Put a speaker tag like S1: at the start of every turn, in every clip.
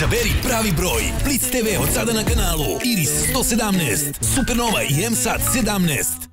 S1: Izaberi pravi broj. Blitz TV od sada na kanalu Iris 117, Supernova i MSAT 17.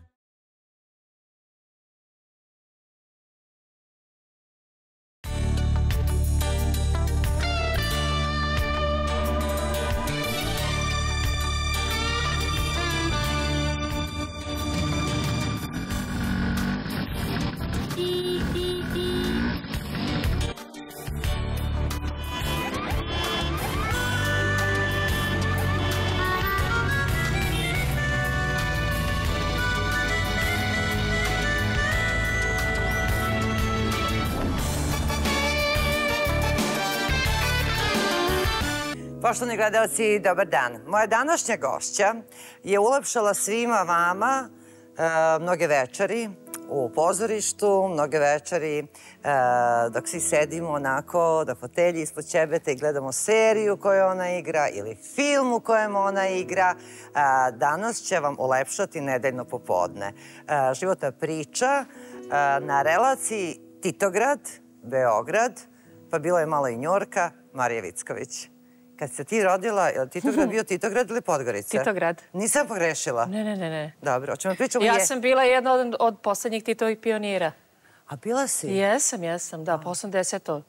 S2: Poštovani gledalci, dobar dan. Moja današnja gošća je ulepšala svima vama mnoge večeri u pozorištu, mnoge večeri dok svi sedimo onako na fotelji ispod ćebeta i gledamo seriju koju ona igra ili film u kojem ona igra. Danas će vam ulepšati nedeljno popodne. Životna priča na relaciji Titograd, Beograd, pa bilo je malo i Njorka, Marija Vicković. Kad se ti rodila, je li Titograd bio Titograd ili Podgorica?
S3: Titograd.
S2: Nisam pogrešila?
S3: Ne.
S2: Dobro, hoćemo pričamo...
S3: Ja sam bila jedna od poslednjih Titovih pionira.
S2: A bila si?
S3: Jesam, da, po 80.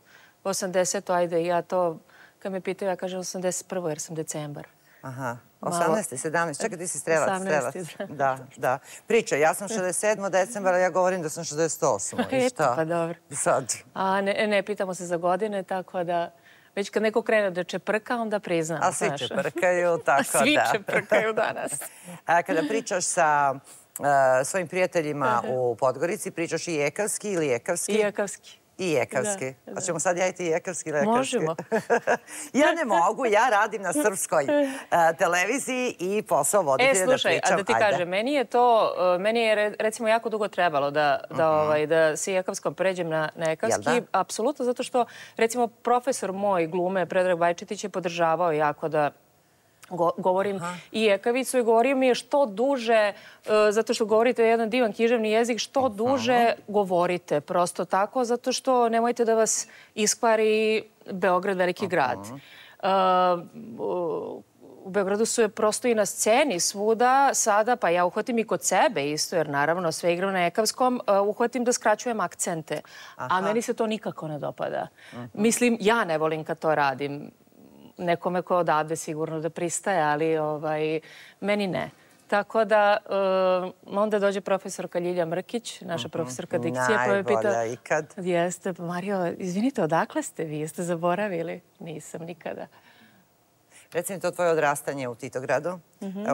S3: 80. Ajde, ja to, kad me pitaju, ja kažem 81. jer sam decembar.
S2: Aha, 18. 17. Čekaj, ti si strelac.
S3: 18.
S2: Da. Priča, ja sam 67. decembara, ja govorim da sam 68. I šta?
S3: Pa dobro.
S2: Sad?
S3: A ne pitamo se za godine, tako da... Već kad neko krene da čeprka, onda priznam.
S2: A svi čeprkaju, tako da.
S3: Svi čeprkaju danas.
S2: Kada pričaš sa svojim prijateljima u Podgorici, pričaš i jekavski ili jekavski? I jekavski. Hoćemo sad ja i ti jekavski ili jekavski?
S3: Možemo.
S2: Ja ne mogu, ja radim na srpskoj televiziji i posao voditelja da pričam.
S3: Slušaj, a da ti kažem, meni je recimo jako dugo trebalo da se jekavskom pređem na jekavski. Apsolutno, zato što recimo profesor moj glume, Predrag Bajčetić, je podržavao jako da govorim i jekavicu i govorio mi je što duže, zato što govorite jedan divan književni jezik, što duže govorite, prosto tako, zato što nemojte da vas iskvari Beograd, veliki grad. U Beogradu su je prosto i na sceni svuda sada, pa ja uhvatim i kod sebe isto, jer naravno sve igram na jekavskom, uhvatim da skraćujem akcente, a meni se to nikako ne dopada. Mislim, ja ne volim kad to radim. Nekome ko odavde sigurno da pristaje, ali meni ne. Tako da onda dođe profesorka Ljilja Mrkić, naša profesorka dikcije, pa me pita...
S2: Najbolja ikad.
S3: Jeste, Mario, izvinite, odakle ste vi? Jeste zaboravili? Nisam nikada.
S2: Reci mi to tvoje odrastanje u Titogradu.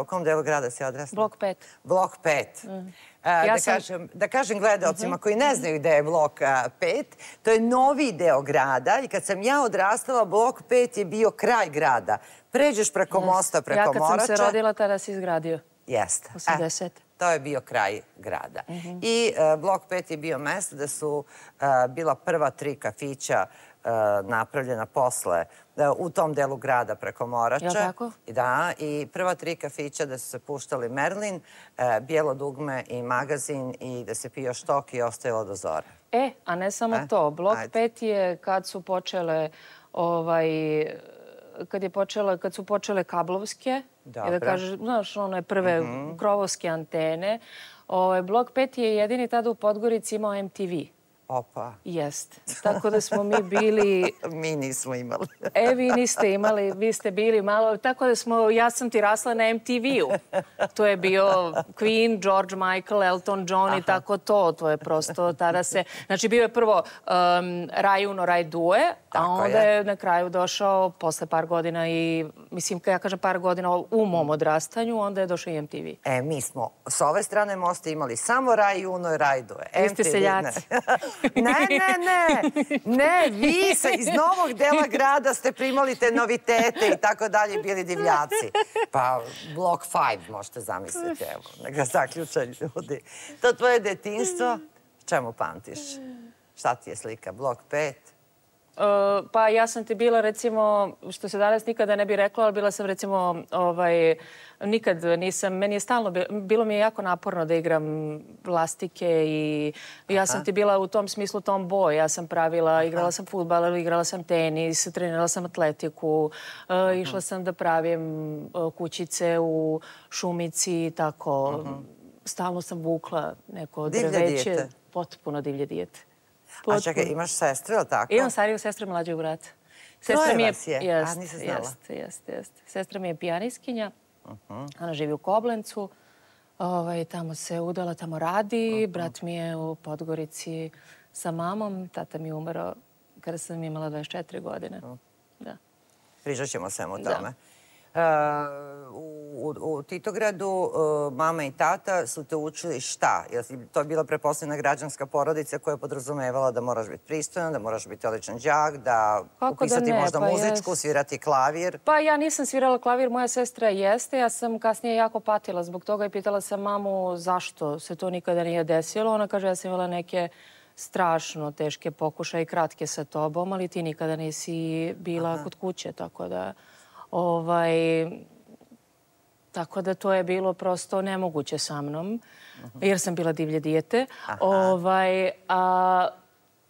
S2: U kom delu grada si odrastala?
S3: Blok 5.
S2: Blok 5. Da kažem gledalcima koji ne znaju gde je Blok 5, to je novi deo grada i kad sam ja odrastala, Blok 5 je bio kraj grada. Pređeš preko mosta, preko Morača.
S3: Ja kad sam se rodila, tada si izgradio.
S2: Jeste.
S3: 80.
S2: To je bio kraj grada. I Blok 5 je bio mesto da su bila prva 3 kafića napravljena posle u tom delu grada preko Morača.
S3: Je li tako?
S2: Da, i prva 3 kafića da su se puštali Merlin, Bijelo dugme i Magazin i da se pio štok i ostajalo do zore.
S3: A ne samo to. Blok 5 je kad su počele kad su počele kablovske, da kažeš, znaš, one prve krovovske antene. Blok 5 je jedini tada u Podgorici imao MTV.
S2: Opa.
S3: Jeste. Tako da smo mi bili...
S2: Mi nismo imali.
S3: Vi niste imali, vi ste bili malo... Tako da ja sam ti rasla na MTV-u. To je bio Queen, George Michael, Elton John i tako to. To je prosto tada se... Znači, bio je prvo Raj Uno, Raj Due, a onda je na kraju došao posle par godina i, mislim, kad ja kažem par godina u mom odrastanju, onda je došao i MTV.
S2: Mi smo s ove strane mosta imali samo Raj Uno i Raj Due.
S3: Vi ste seljaci.
S2: Ne, vi iz novog dela grada ste primali te novitete i tako dalje, bili divljaci. Pa Blok 5 možete zamisliti, evo, neka zaključaju ljudi. To tvoje detinjstvo, čemu pamtiš? Šta ti je slika? Blok 5?
S3: Pa ja sam ti bila, recimo, što se danas nikada ne bi rekla, ali bila sam, recimo, nikad nisam, meni je stalno, bilo mi je jako naporno da igram lastike i ja sam ti bila u tom smislu tomboy. Ja sam pravila, igrala sam fudbal, igrala sam tenis, trenirala sam atletiku, išla sam da pravim kućice u šumici, tako. Stalno sam vukla neko drveće. Potpuno divlje dijete.
S2: A čekaj, imaš sestru, ili tako?
S3: Imam stariju sestru i mlađeg brata.
S2: Troje vas je? A, nisam znala.
S3: Jeste. Sestra mi je pijanistkinja. Ona živi u Koblencu. Tamo se udala, tamo radi. Brat mi je u Podgorici sa mamom. Tata mi je umro kada sam imala 24 godine. Da.
S2: Pričat ćemo svemu o tome. U Titogradu mama i tata su te učili šta? To je bila pretpostavljena građanska porodica koja je podrazumevala da moraš biti pristojan, da moraš biti odličan đak, da upisati možda muzičku, svirati klavir.
S3: Pa ja nisam svirala klavir, moja sestra jeste. Ja sam kasnije jako patila zbog toga i pitala sam mamu zašto se to nikada nije desilo. Ona kaže ja sam imala neke strašno teške pokušaje i kratke sa tobom, ali ti nikada nisi bila kod kuće, tako da... Tako da to je bilo prosto nemoguće sa mnom, jer sam bila divlje dijete.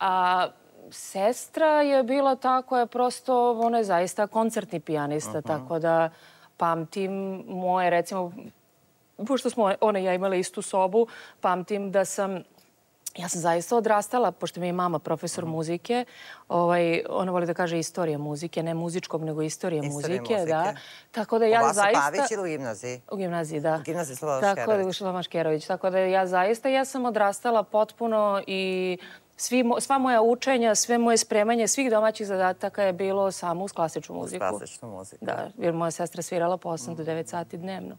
S3: A sestra je bila ta koja je prosto, ona je zaista koncertni pijanista, tako da pamtim moje, recimo, pošto smo ona i ja imali istu sobu, pamtim da sam... Ja sam zaista odrastala, pošto mi je mama profesor muzike. Ona voli da kaže istorija muzike, ne muzičkog, nego istorije muzike. Tako da ja zaista...
S2: U Vasu Pavić ili u gimnaziji?
S3: U gimnaziji, da.
S2: U gimnaziji Slobodan Škerović.
S3: Tako da, u Slobodan Škerović. Tako da ja zaista, ja sam odrastala potpuno i sva moja učenja, sve moje spremanje, svih domaćih zadataka je bilo samo uz klasičnu muziku.
S2: Uz klasičnu muziku.
S3: Da, jer moja sestra svirala po 8 do 9 sati dnevno.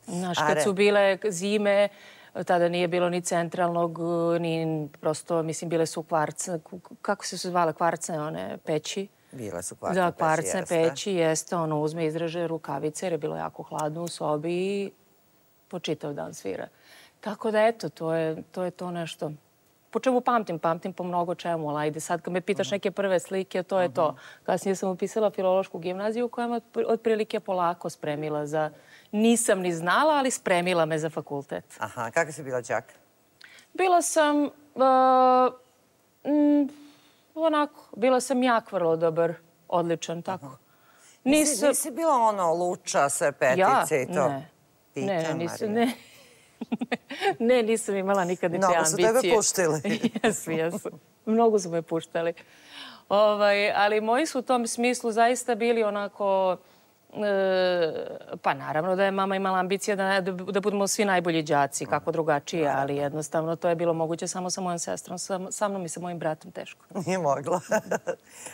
S3: Znaš, kad su bile zime, tada nije bilo ni centralnog, ni prosto, mislim, bile su kvarce, kako se zvale kvarce, one peći?
S2: Bile su kvarce peći,
S3: da, kvarce peći, jeste. Ono uzme, izreže rukavice jer je bilo jako hladno u sobi i po čitav dan svira. Tako da, eto, to je to nešto. Po čemu pamtim? Pamtim po mnogo čemu, ali ajde sad kad me pitaš neke prve slike, to je to. Kasnije sam upisala filološku gimnaziju koja me otprilike polako spremila za... Nisam ni znala, ali spremila me za fakultet.
S2: Aha, kako si bila đak?
S3: Bila sam... onako, bila sam jak vrlo dobar, odličan, tako.
S2: Nisi bila ono luča, sve petice i to?
S3: Ne, nisam imala nikad ni te ambicije.
S2: Mnogo su tebe puštili.
S3: Jesu. Mnogo su me puštali. Ali moji su u tom smislu zaista bili onako... Pa naravno da je mama imala ambicije da budemo svi najbolji đaci, kako drugačije, ali jednostavno to je bilo moguće samo sa mojom sestrom. Sa mnom i sa mojim bratom teško.
S2: Nije mogla.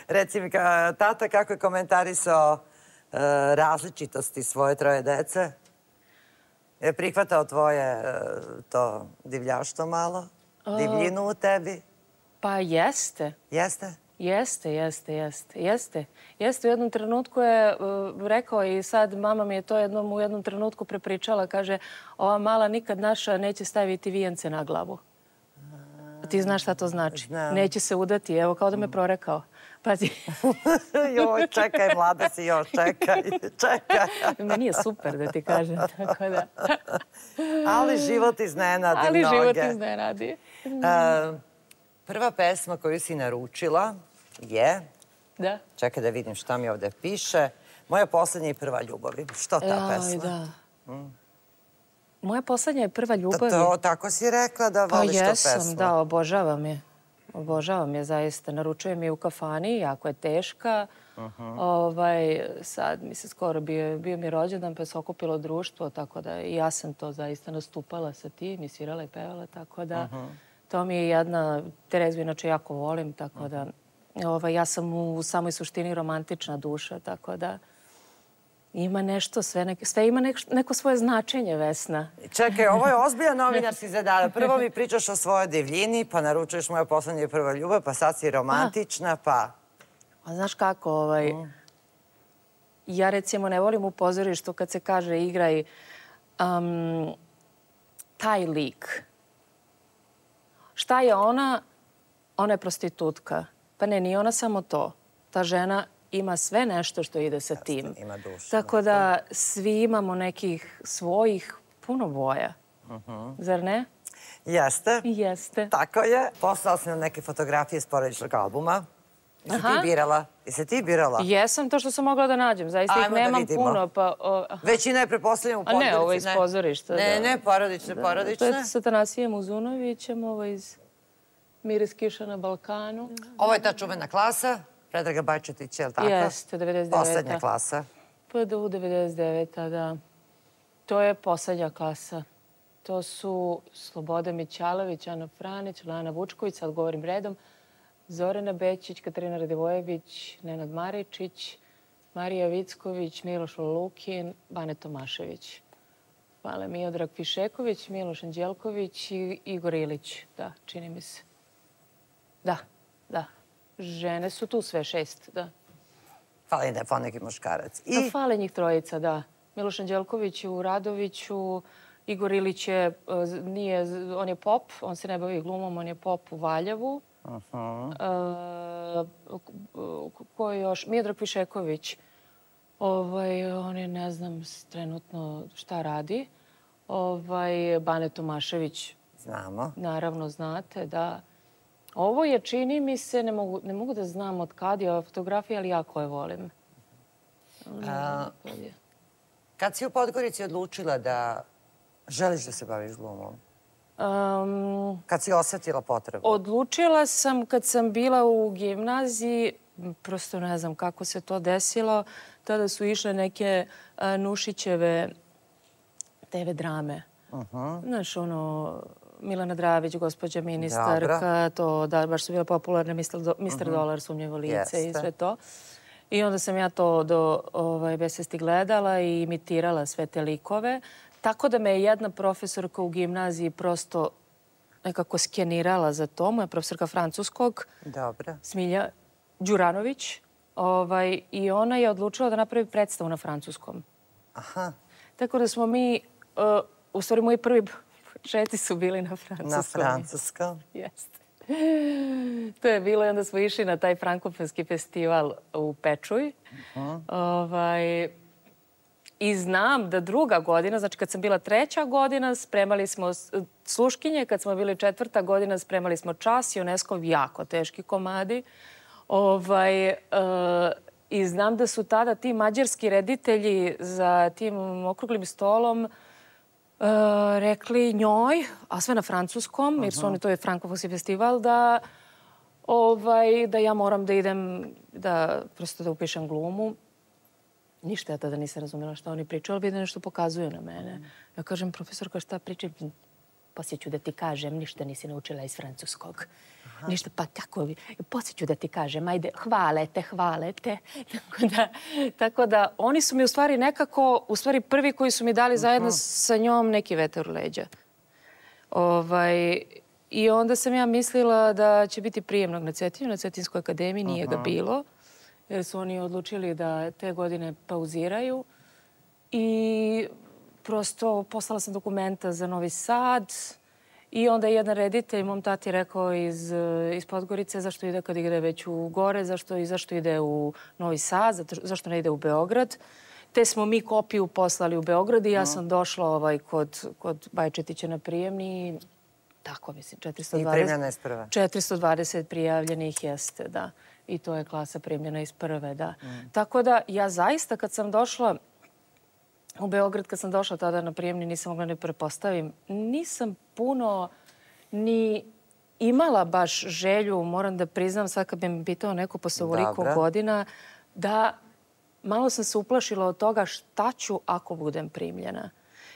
S2: Reci mi, tata kako je komentarisao različitosti svoje troje dece? Je prihvatao tvoje to divljaštvo malo? Divljinu u tebi?
S3: Pa jeste.
S2: Jeste?
S3: Jeste. U jednom trenutku je rekao i sad mama mi je to u jednom trenutku prepričala. Kaže, ova mala nikad naša neće staviti vijence na glavu. Ti znaš šta to znači? Neće se udati. Evo, kao da me prorekao. Pazi.
S2: Joj, čekaj, mlada si, još, čekaj.
S3: Meni je super da ti kažem, tako da.
S2: Ali život iznenadi mnoge. Prva pesma koju si naručila je...
S3: Da.
S2: Čekaj da vidim šta mi ovde piše. Moja poslednja i prva ljubavi. Što ta pesma?
S3: Da. Moja poslednja i prva ljubavi...
S2: Tako si rekla da voliš tu pesmu.
S3: Pa jesam, da, obožavam je. Obožavam je zaista. Naručujem je u kafani, jako je teška. Sad mi se skoro bio mi rođendan, pa se okupilo društvo, tako da i ja sam to zaista nastupala sa tim i svirala i pevala, tako da... To mi je jedna, Terezu inače jako volim, tako da ja sam u samoj suštini romantična duša, tako da ima nešto, sve ima neko svoje značenje, Vesna.
S2: Čekaj, ovo je ozbiljan novinarski zadatak. Prvo mi pričaš o svojoj divljini, pa naručuješ Moja poslednja i prva ljubav, pa sad si romantična, pa...
S3: Znaš kako, ja recimo ne volim u pozorištu kad se kaže igraj taj lik. Šta je ona? Ona je prostitutka. Pa ne, nije ona samo to. Ta žena ima sve nešto što ide sa tim.
S2: Ima dušu.
S3: Tako da svi imamo nekih svojih puno boja. Zar ne?
S2: Jeste.
S3: Jeste.
S2: Tako je. Poslala si nam neke fotografije iz porodičnog albuma. Jesi ti birala? Jesi ti birala?
S3: Jesam, to što sam mogla da nađem. Zaista ih nemam puno.
S2: Većina je prepostavljena u pozorištu.
S3: A ne, ovo je iz pozorišta.
S2: Ne, porodične.
S3: To je sa Tanasijem Uzunovićem, ovo je iz Miris kiša na Balkanu.
S2: Ovo je ta čuvena klasa, Predraga Bajčetića, je li tako?
S3: Jeste, 99.
S2: Poslednja klasa.
S3: PDU 99. Da. To je poslednja klasa. To su Sloboda Mićalović, Ana Franić, Lana Vučković, sad govorim redom, Zorana Bećić, Katarina Radivojević, Nenad Maričić, Marija Vicković, Miloš Lukin, Bane Tomašević. Hvala, Miodrag Fišeković, Miloš Anđelković i Igor Ilić. Da, čini mi se. Da. Žene su tu sve 6, da.
S2: Fali da je poneki muškarac.
S3: Fale njih 3, da. Miloš Anđelković u Radoviću, Igor Ilić on je pop, on se ne bavi glumom, on je pop u Valjevu. Ko je još? Miodrag Fišeković. On je, ne znam, trenutno šta radi. Bane Tomašević.
S2: Znamo.
S3: Naravno, znate, da. Ovo je, čini mi se, ne mogu da znam od kad je ova fotografija, ali jako je volim.
S2: Kad si u Podgorici odlučila da želiš da se baviš glumom? Kad si osetila potrebu?
S3: Odlučila sam kad sam bila u gimnaziji, prosto ne znam kako se to desilo, tada su išle neke Nušićeve TV drame. Znaš, Milana Dravić, gospođa ministarka, to da, baš su bile popularne, Mr. Dolar, Sumnjivo lice i sve to. I onda sam ja to do besvesti gledala i imitirala sve te likove. Tako da me je jedna profesorka u gimnaziji prosto nekako skenirala za to. Moja profesorka francuskog, Smilja Đuranović. I ona je odlučila da napravi predstavu na francuskom.
S2: Aha.
S3: Tako da smo mi, u stvari moji prvi početci su bili na francuskom.
S2: Na francuskom?
S3: Jeste. To je bilo i onda smo išli na taj frankofonski festival u Pečuj. I znam da druga godina, znači kad sam bila 3. godina, spremali smo sluškinje, kad smo bili 4. godina, spremali smo Čas i UNESCO, jako teški komadi. I znam da su tada ti mađarski reditelji za tim okruglim stolom rekli njoj, a sve na francuskom, jer su oni, to je frankofonski festival, da ja moram da idem, da prosto da upišem glumu. Ništa ja tada nisam razumela šta oni pričaju, ali vidim nešto pokazuju na mene. Ja kažem, profesorka, šta pričam? Poslije ću da ti kažem, ništa nisi naučila iz francuskog. Ništa, pa tako, poslije ću da ti kažem, ajde, hvala te. Tako da, oni su mi u stvari nekako, u stvari prvi koji su mi dali zajedno sa njom neki vetar u leđa. I onda sam ja mislila da će biti prijemnog na Cetinju, na Cetinskoj akademiji, nije ga bilo. Jer su oni odlučili da te godine pauziraju. I prosto poslala sam dokumenta za Novi Sad. I onda je jedan reditelj mom tati rekao iz Podgorice zašto ide kad ide već u gore, zašto ide u Novi Sad, zašto ne ide u Beograd. Te smo mi kopiju poslali u Beograd i ja sam došla kod Bajčetića na prijemni. Tako, mislim, 420.
S2: I primljena iz prve.
S3: 420 prijavljenih jeste, da. I to je klasa primljena iz prve, da. Tako da ja zaista kad sam došla u Beograd, kad sam došla tada na prijemni, nisam mogla ne prepostavim. Nisam puno ni imala baš želju, moram da priznam, sad kad bi me pitao neko posle ovoliko godina, da malo sam se uplašila od toga šta ću ako budem primljena.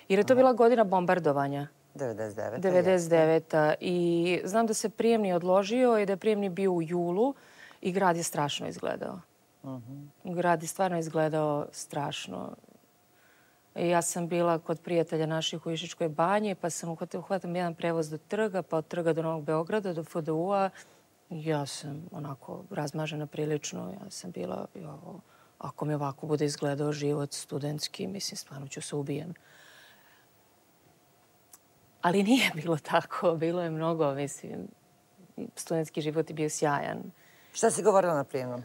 S3: Jer je to bila godina bombardovanja. 99. I znam da se prijemni odložio i da je prijemni bio u julu i grad je strašno izgledao. Grad je stvarno izgledao strašno. Ja sam bila kod prijatelja naših u Išičkoj banji, pa sam uhvatam jedan prevoz do trga, pa od trga do Novog Beograda, do FDU-a. Ja sam onako razmažena prilično. Ja sam bila, ako mi ovako bude izgledao život studentski, mislim, stvarno ću se ubijem. Ali nije bilo tako. Bilo je mnogo, mislim, studentski život je bio sjajan.
S2: Šta si govorila na prijemnom?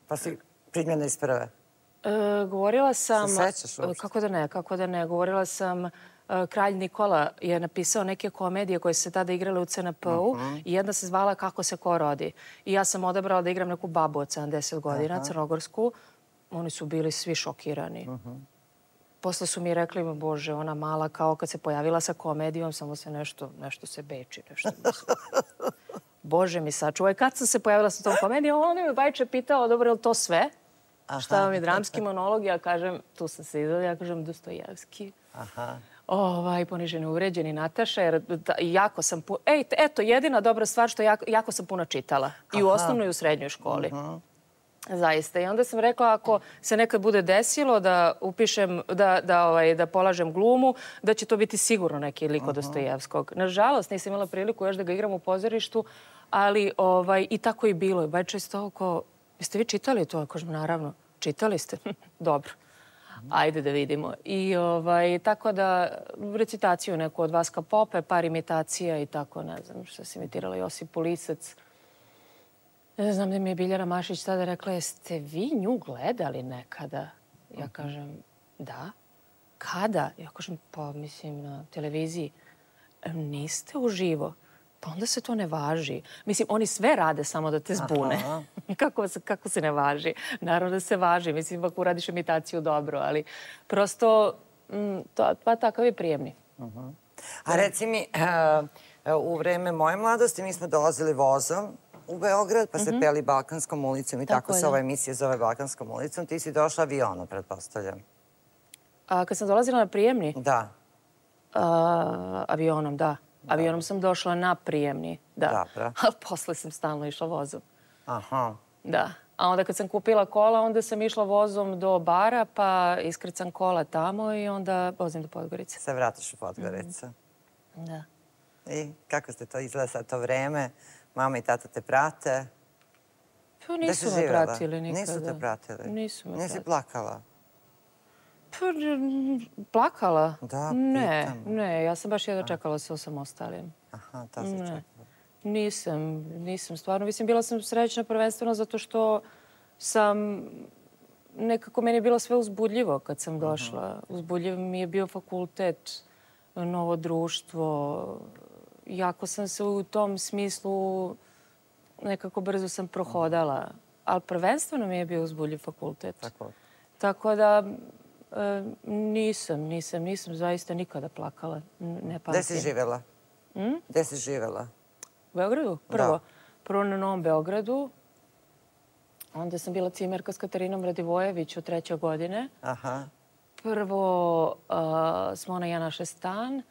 S2: Pa si primljena iz prve.
S3: Govorila sam...
S2: Se sećaš uopšte?
S3: Kako da ne. Govorila sam... Kralj Nikola je napisao neke komedije koje su se tada igrale u CNP-u i jedna se zvala Kako se ko rodi. I ja sam odabrala da igram neku babu od 70 godina, crnogorsku. Oni su bili svi šokirani. Posle su mi rekli, bože, ona mala kao kad se pojavila sa komedijom, samo se nešto se beči, nešto mislim. Bože mi sačuvaj. Kad sam se pojavila sa tom komedijom, on mi Bajče pitao, dobro, je li to sve? Šta vam je dramski monolog? Ja kažem, tu sam se izvala, ja kažem Dostojevski. Poniženi, uvređeni Nataša, jer jako sam... Eto, jedina dobra stvar što jako sam puno čitala. I u osnovnoj i u srednjoj školi. Zaista. I onda sam rekla, ako se nekad bude desilo da upišem, da polažem glumu, da će to biti sigurno neki lik od Dostojevskog. Nažalost, nisam imala priliku još da ga igram u pozorištu, ali i tako i bilo. Bajče isto oko... Jeste vi čitali to? Kažem, naravno. Čitali ste? Dobro. Ajde da vidimo. I tako da recitaciju neku od Vaska Pope, par imitacija i tako, ne znam što se imitirala Josip Lisac. Ne znam da mi je Biljana Mašić tada rekla, jeste vi nju gledali nekada? Ja kažem, da. Kada? Ja kažem, pa mislim na televiziji. Niste uživo. Pa onda se to ne važi. Mislim, oni sve rade samo da te zbune. Kako se ne važi? Naravno da se važi. Mislim, ako uradiš imitaciju dobro, ali prosto pa takav je prijemni.
S2: A reci mi, u vreme moje mladosti mi smo dolazili vozom u Beograd, pa se peli Balkanskom ulicom i tako se ova emisija zove Balkanskom ulicom. Ti si došla avionom, pretpostavljam.
S3: Kad sam dolazila na prijemni?
S2: Da.
S3: Avionom, da. Avionom sam došla na prijemni, da.
S2: Dobro.
S3: A posle sam stalno išla vozom.
S2: Aha.
S3: Da. A onda kad sam kupila kola, onda sam išla vozom do bara, pa iskrcam kola tamo i onda vozim do Podgorice.
S2: Se vratiš u Podgoricu.
S3: Da.
S2: I kako ste to izgleda sad to vreme? Mama i tata te prate?
S3: Pa nisu me pratili nikada.
S2: Nisu te pratili?
S3: Nisu me pratili.
S2: Nisi plakala?
S3: Pa plakala?
S2: Da,
S3: pitam. Ne, ja sam baš jedno čekala sa osamostalim.
S2: Aha, to si čekala.
S3: Nisam stvarno. Mislim, bila sam srećna prvenstveno zato što sam... Nekako meni je bilo sve uzbudljivo kad sam došla. Uzbudljiv mi je bio fakultet, novo društvo. Jako sam se u tom smislu nekako brzo sam prohodala. Ali prvenstveno mi je bio uzbudljiv fakultet. Tako da nisam zaista nikada plakala. Ne pamtim.
S2: Gde si živjela? Gde si živjela?
S3: U Beogradu? Prvo na Novom Beogradu. Onda sam bila cimerka s Katarinom Radivojević od 3. godine. Prvo smo ona i ja našli stan.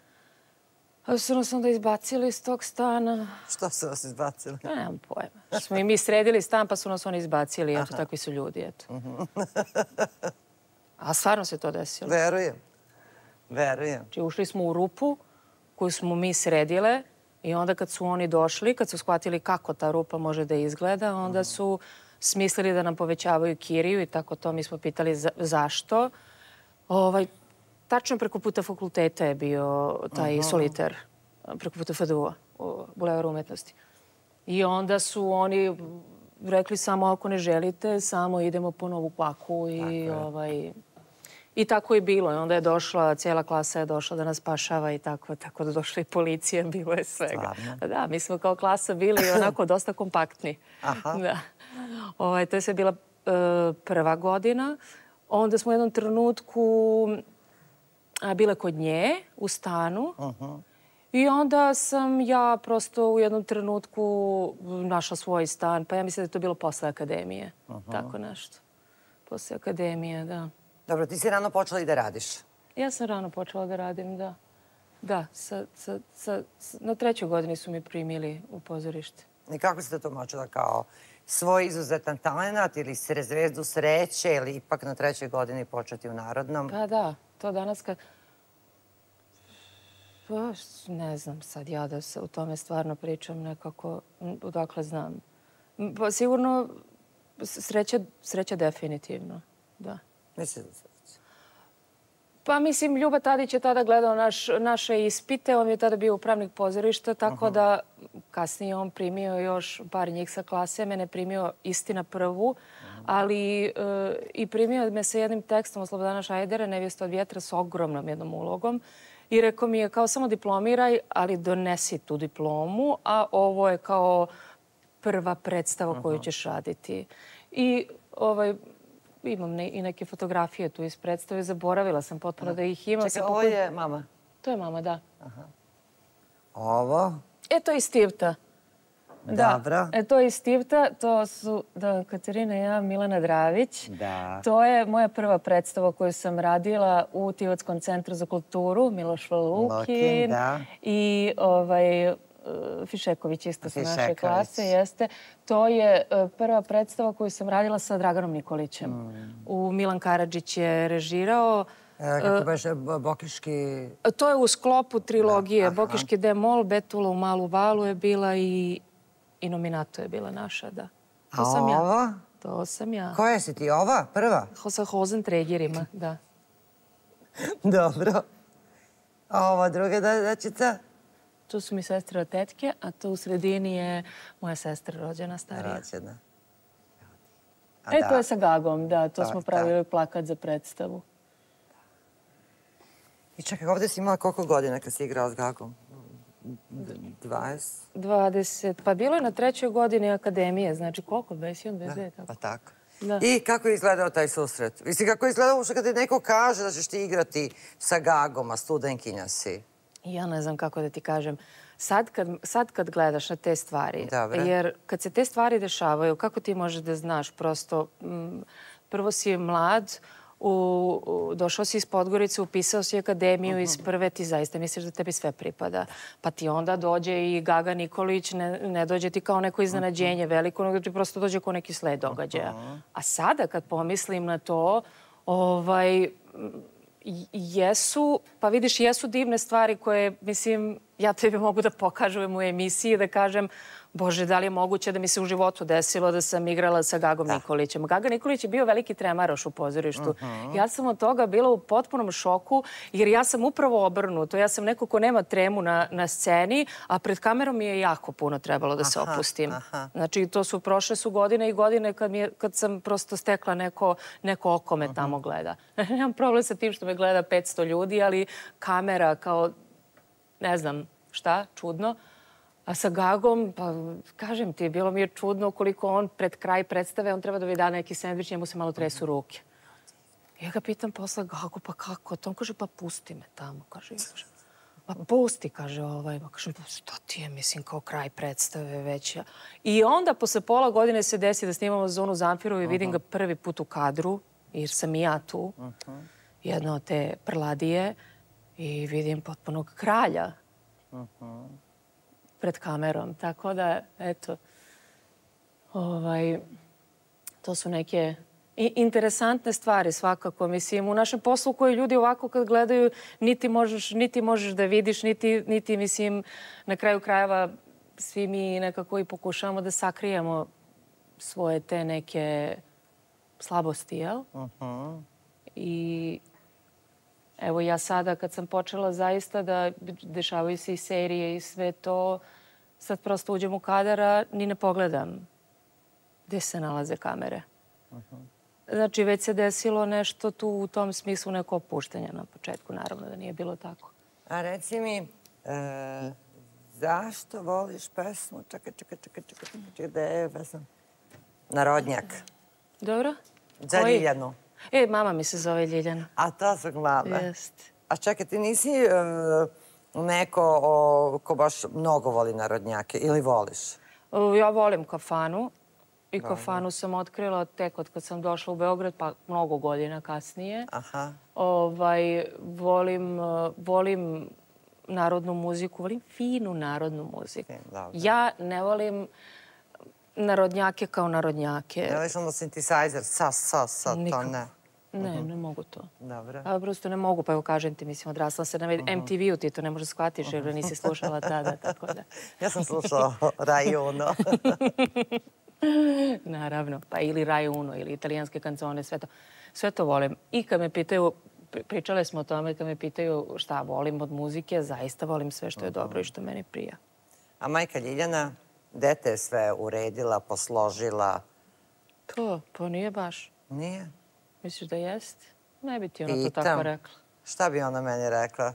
S3: A su nas onda izbacili iz tog stana.
S2: Što su nas izbacili?
S3: Nemam pojma. Smo i mi sredili stan pa su nas oni izbacili. Eto, takvi su ljudi, eto. A stvarno se to desilo.
S2: Verujem.
S3: Znači, ušli smo u rupu koju smo mi sredile i onda kad su oni došli, kad su shvatili kako ta rupa može da izgleda, onda su smislili da nam povećavaju kiriju i tako to. Mi smo pitali zašto. Tačno preko puta fakulteta je bio taj soliter, preko puta FDU-a, u Bulevaru umetnosti. I onda su oni rekli samo ako ne želite, samo idemo po novu paku i tako je bilo. I onda je došla, cijela klasa je došla da nas spašava i tako da došla i policija, bilo je svega. Da, mi smo kao klasa bili onako dosta kompaktni. Da. To je sve bila prva godina. Onda smo u jednom trenutku bile kod nje u stanu i onda sam ja prosto u jednom trenutku našla svoj stan. Pa ja mislim da je to bilo posle akademije. Tako nešto. Posle akademije, da.
S2: Dobro, ti si rano počela i da radiš?
S3: Ja sam rano počela da radim, da. Da, na 3. godini su mi primili u pozorište.
S2: I kako si to tumačila kao svoj izuzetan talent ili zvezdu sreće ili ipak na 3. godini početi u Narodnom?
S3: Pa da, to danas kad... Ne znam sad ja da se u tome stvarno pričam nekako, odakle znam. Pa sigurno sreća definitivno, da.
S2: Misliš da sreća?
S3: Pa mislim, Ljuba Tadić je tada gledao naše ispite, on je tada bio upravnik pozorišta, tako da kasnije on primio još par njih sa klase, mene primio istina prvu, ali i primio me sa jednim tekstom od Slobodana Šajdera, Nevjesta od vjetra, s ogromnom jednom ulogom. I rekao mi je kao samo diplomiraj, ali donesi tu diplomu, a ovo je kao prva predstava koju ćeš raditi. I imam i neke fotografije tu iz predstave. Zaboravila sam potpuno da ih imam.
S2: Čekaj, ovo je mama?
S3: To je mama, da.
S2: Ovo?
S3: To je iz Stivta.
S2: Dobro.
S3: To je iz Stivta. To su Katarina i ja, Milana Dravić. To je moja prva predstava koju sam radila u Tivotskom centru za kulturu, Miloš Valukin. I Fišeković isto sa naše klase, jeste. To je prva predstava koju sam radila sa Draganom Nikolićem. Milan Karadžić je režirao.
S2: Kako beže, Bokiški...
S3: To je u sklopu trilogije. Bokiški D-mol, Betula u Malu Valu je bila i Nominato je bila naša, da.
S2: To sam ja. A ovo?
S3: To sam ja.
S2: Koja si ti? Ova? Prva?
S3: Sa Hozentregerima, da.
S2: Dobro. A ova druga dečica?
S3: Tu su mi sestre od tetke, a tu u sredini je moja sestra rođena, starija.
S2: Rođena.
S3: To je sa Gagom, da. To smo pravili plakat za predstavu.
S2: I čekaj, ovdje si imala koliko godina kad si igrala s Gagom? 20?
S3: 20. Pa bilo je na 3. godini akademije. Znači koliko? 21, 22?
S2: Pa tako. I kako je izgledao taj susret? Mislim, kako je izgledao uopšte kad ti neko kaže da ćeš ti igrati sa Gagom, a studenkinja si?
S3: Ja ne znam kako da ti kažem. Sad kad gledaš na te stvari, jer kad se te stvari dešavaju, kako ti možeš da znaš? Prosto, prvo si mlad, došao si iz Podgorice, upisao si akademiju iz prve, ti zaista misliš da tebi sve pripada. Pa ti onda dođe i Gaga Nikolić, ne dođe ti kao neko iznenađenje veliko, nego ti prosto dođe kao neki sled događaja. A sada kad pomislim na to, pa vidiš, jesu divne stvari koje, mislim, ja tebi mogu da pokažem u emisiji, da kažem, Bože, da li je moguće da mi se u životu desilo da sam igrala sa Gagom Nikolićem. Gaga Nikolić je bio veliki tremaroš u pozorištu. Ja sam od toga bila u potpunom šoku, jer ja sam upravo obrnuto. Ja sam neko ko nema tremu na sceni, a pred kamerom mi je jako puno trebalo da se opustim. Znači, prošle su godine i godine kad sam prosto stekla neko oko me tamo gleda. Nemam problem sa tim što me gleda 500 ljudi, ali kamera kao, ne znam šta, čudno. A sa Gagom, pa kažem ti, bilo mi je čudno koliko on pred kraj predstave, on treba da mi da neki sendvič, njemu se malo tresu ruke. Ja ga pitam posle, Gago, pa kako? On kaže, pa pusti me tamo, kaže. Pa pusti, kaže pa kaže, šta ti je, mislim, kao kraj predstave već. I onda posle pola godine se desi da snimamo Zonu Zamfirovu i vidim ga prvi put u kadru, jer sam i ja tu, jedna od te prladije, i vidim potpunog kralja pred kamerom. Tako da, eto, to su neke interesantne stvari svakako. Mislim, u našem poslu koji ljudi ovako kad gledaju niti možeš da vidiš, niti, mislim, na kraju krajeva svi mi nekako i pokušavamo da sakrijemo svoje te neke slabosti, jel? I evo ja sada kad sam počela zaista da dešavaju se i serije i sve to, sad prosto uđem u kadar, ni ne pogledam gde se nalaze kamere. Znači već se desilo nešto tu u tom smislu, neko opuštanje na početku, naravno da nije bilo tako.
S2: A reci mi, zašto voliš pesmu? Čekaj, gde je pesma? Narodnjak.
S3: Dobro.
S2: Za Ljiljanu.
S3: Mama mi se zove Ljiljana.
S2: A to zbog mame?
S3: Jeste.
S2: A čekaj, ti nisi neko ko baš mnogo voli narodnjake ili voliš?
S3: Ja volim Kafanu i Kafanu sam otkrila tek od kad sam došla u Beograd, pa mnogo godina kasnije. Volim narodnu muziku, volim finu narodnu muziku. Ja ne volim narodnjake kao narodnjake.
S2: Ne voliš ono synthesizer, to ne?
S3: Ne mogu to.
S2: Dobro.
S3: A prosto ne mogu, pa evo kažem ti, mislim, odrasla se na MTV-u, ti to ne možeš shvatiš jer nisi slušala tada, tako da.
S2: Ja sam slušala Rai Uno.
S3: Naravno, pa ili Rai Uno ili italijanske kancone, sve to volim. I kad me pitaju pričale smo o tome kad me pitaju šta volim od muzike. Zaista volim sve što je dobro i što meni prija.
S2: A majka Ljiljana, gde te je sve uredila, posložila?
S3: To, pa nije baš.
S2: Nije?
S3: Misliš da jeste? Ne bi ti ona to tako rekla.
S2: Šta bi ona meni rekla?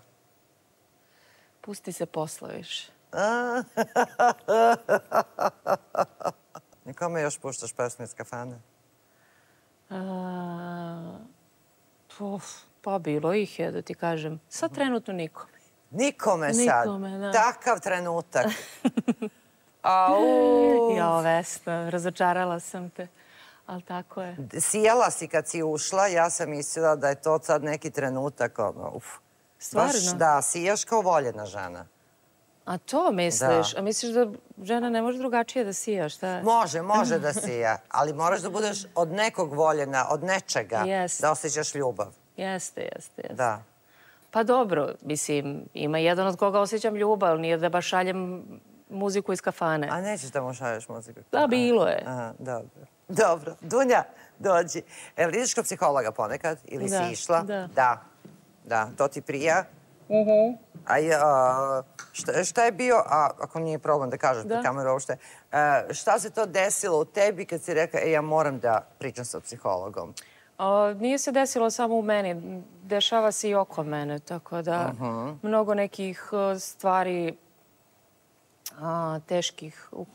S3: Pusti se posla više.
S2: Nikome još puštaš pesme iz kafane?
S3: Pa bilo ih je, da ti kažem. Sad trenutno nikome.
S2: Nikome sad?
S3: Nikome, da.
S2: Takav trenutak.
S3: Jo, Vesna, razočarala sam te. Ali tako je.
S2: Sijala si kad si ušla, ja sam mislila da je to sad neki trenutak.
S3: Stvarno?
S2: Baš da, sijaš kao voljena žena.
S3: A to misliš? A misliš da žena ne može drugačije da sija, šta je?
S2: Može da sija, ali moraš da budeš od nekog voljena, od nečega, da osjećaš ljubav.
S3: Jeste.
S2: Da.
S3: Pa dobro, mislim, ima jedan od koga osjećam ljubav, ali nije da baš šaljem muziku iz kafane.
S2: A nećeš da mu šalješ muziku?
S3: Da, bilo je.
S2: Aha, dobro. Dunja, dođi. Evo, ideš kod psihologa ponekad? Ili si išla? Da. To ti prija? Šta je bio, ako nije problem da kažeš pred kameru uopšte, šta se to desilo u tebi kad si rekla, ja moram da pričam sa psihologom?
S3: Nije se desilo samo u meni, dešava se i oko mene, tako da mnogo nekih stvari teških u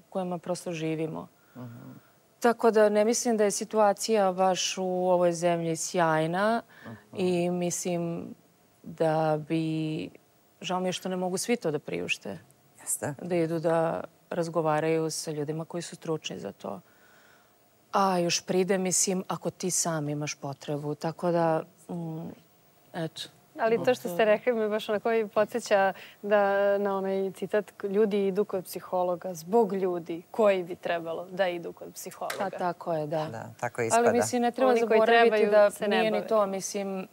S3: kojima prosto živimo. Tako da ne mislim da je situacija baš u ovoj zemlji sjajna i mislim da bi... Žao mi je što ne mogu svi to da priušte.
S2: Jeste.
S3: Da idu da razgovaraju sa ljudima koji su stručni za to. A još pride, mislim, ako ti sam imaš potrebu. Tako da, eto.
S4: Ali to što ste rekli me baš onako i podsjeća da na onaj citat ljudi idu kod psihologa zbog ljudi koji bi trebalo da idu kod psihologa.
S3: Pa tako je, da.
S2: Da, tako ispada.
S3: Ali mislim, ne treba zaboraviti da nije ni to, mislim,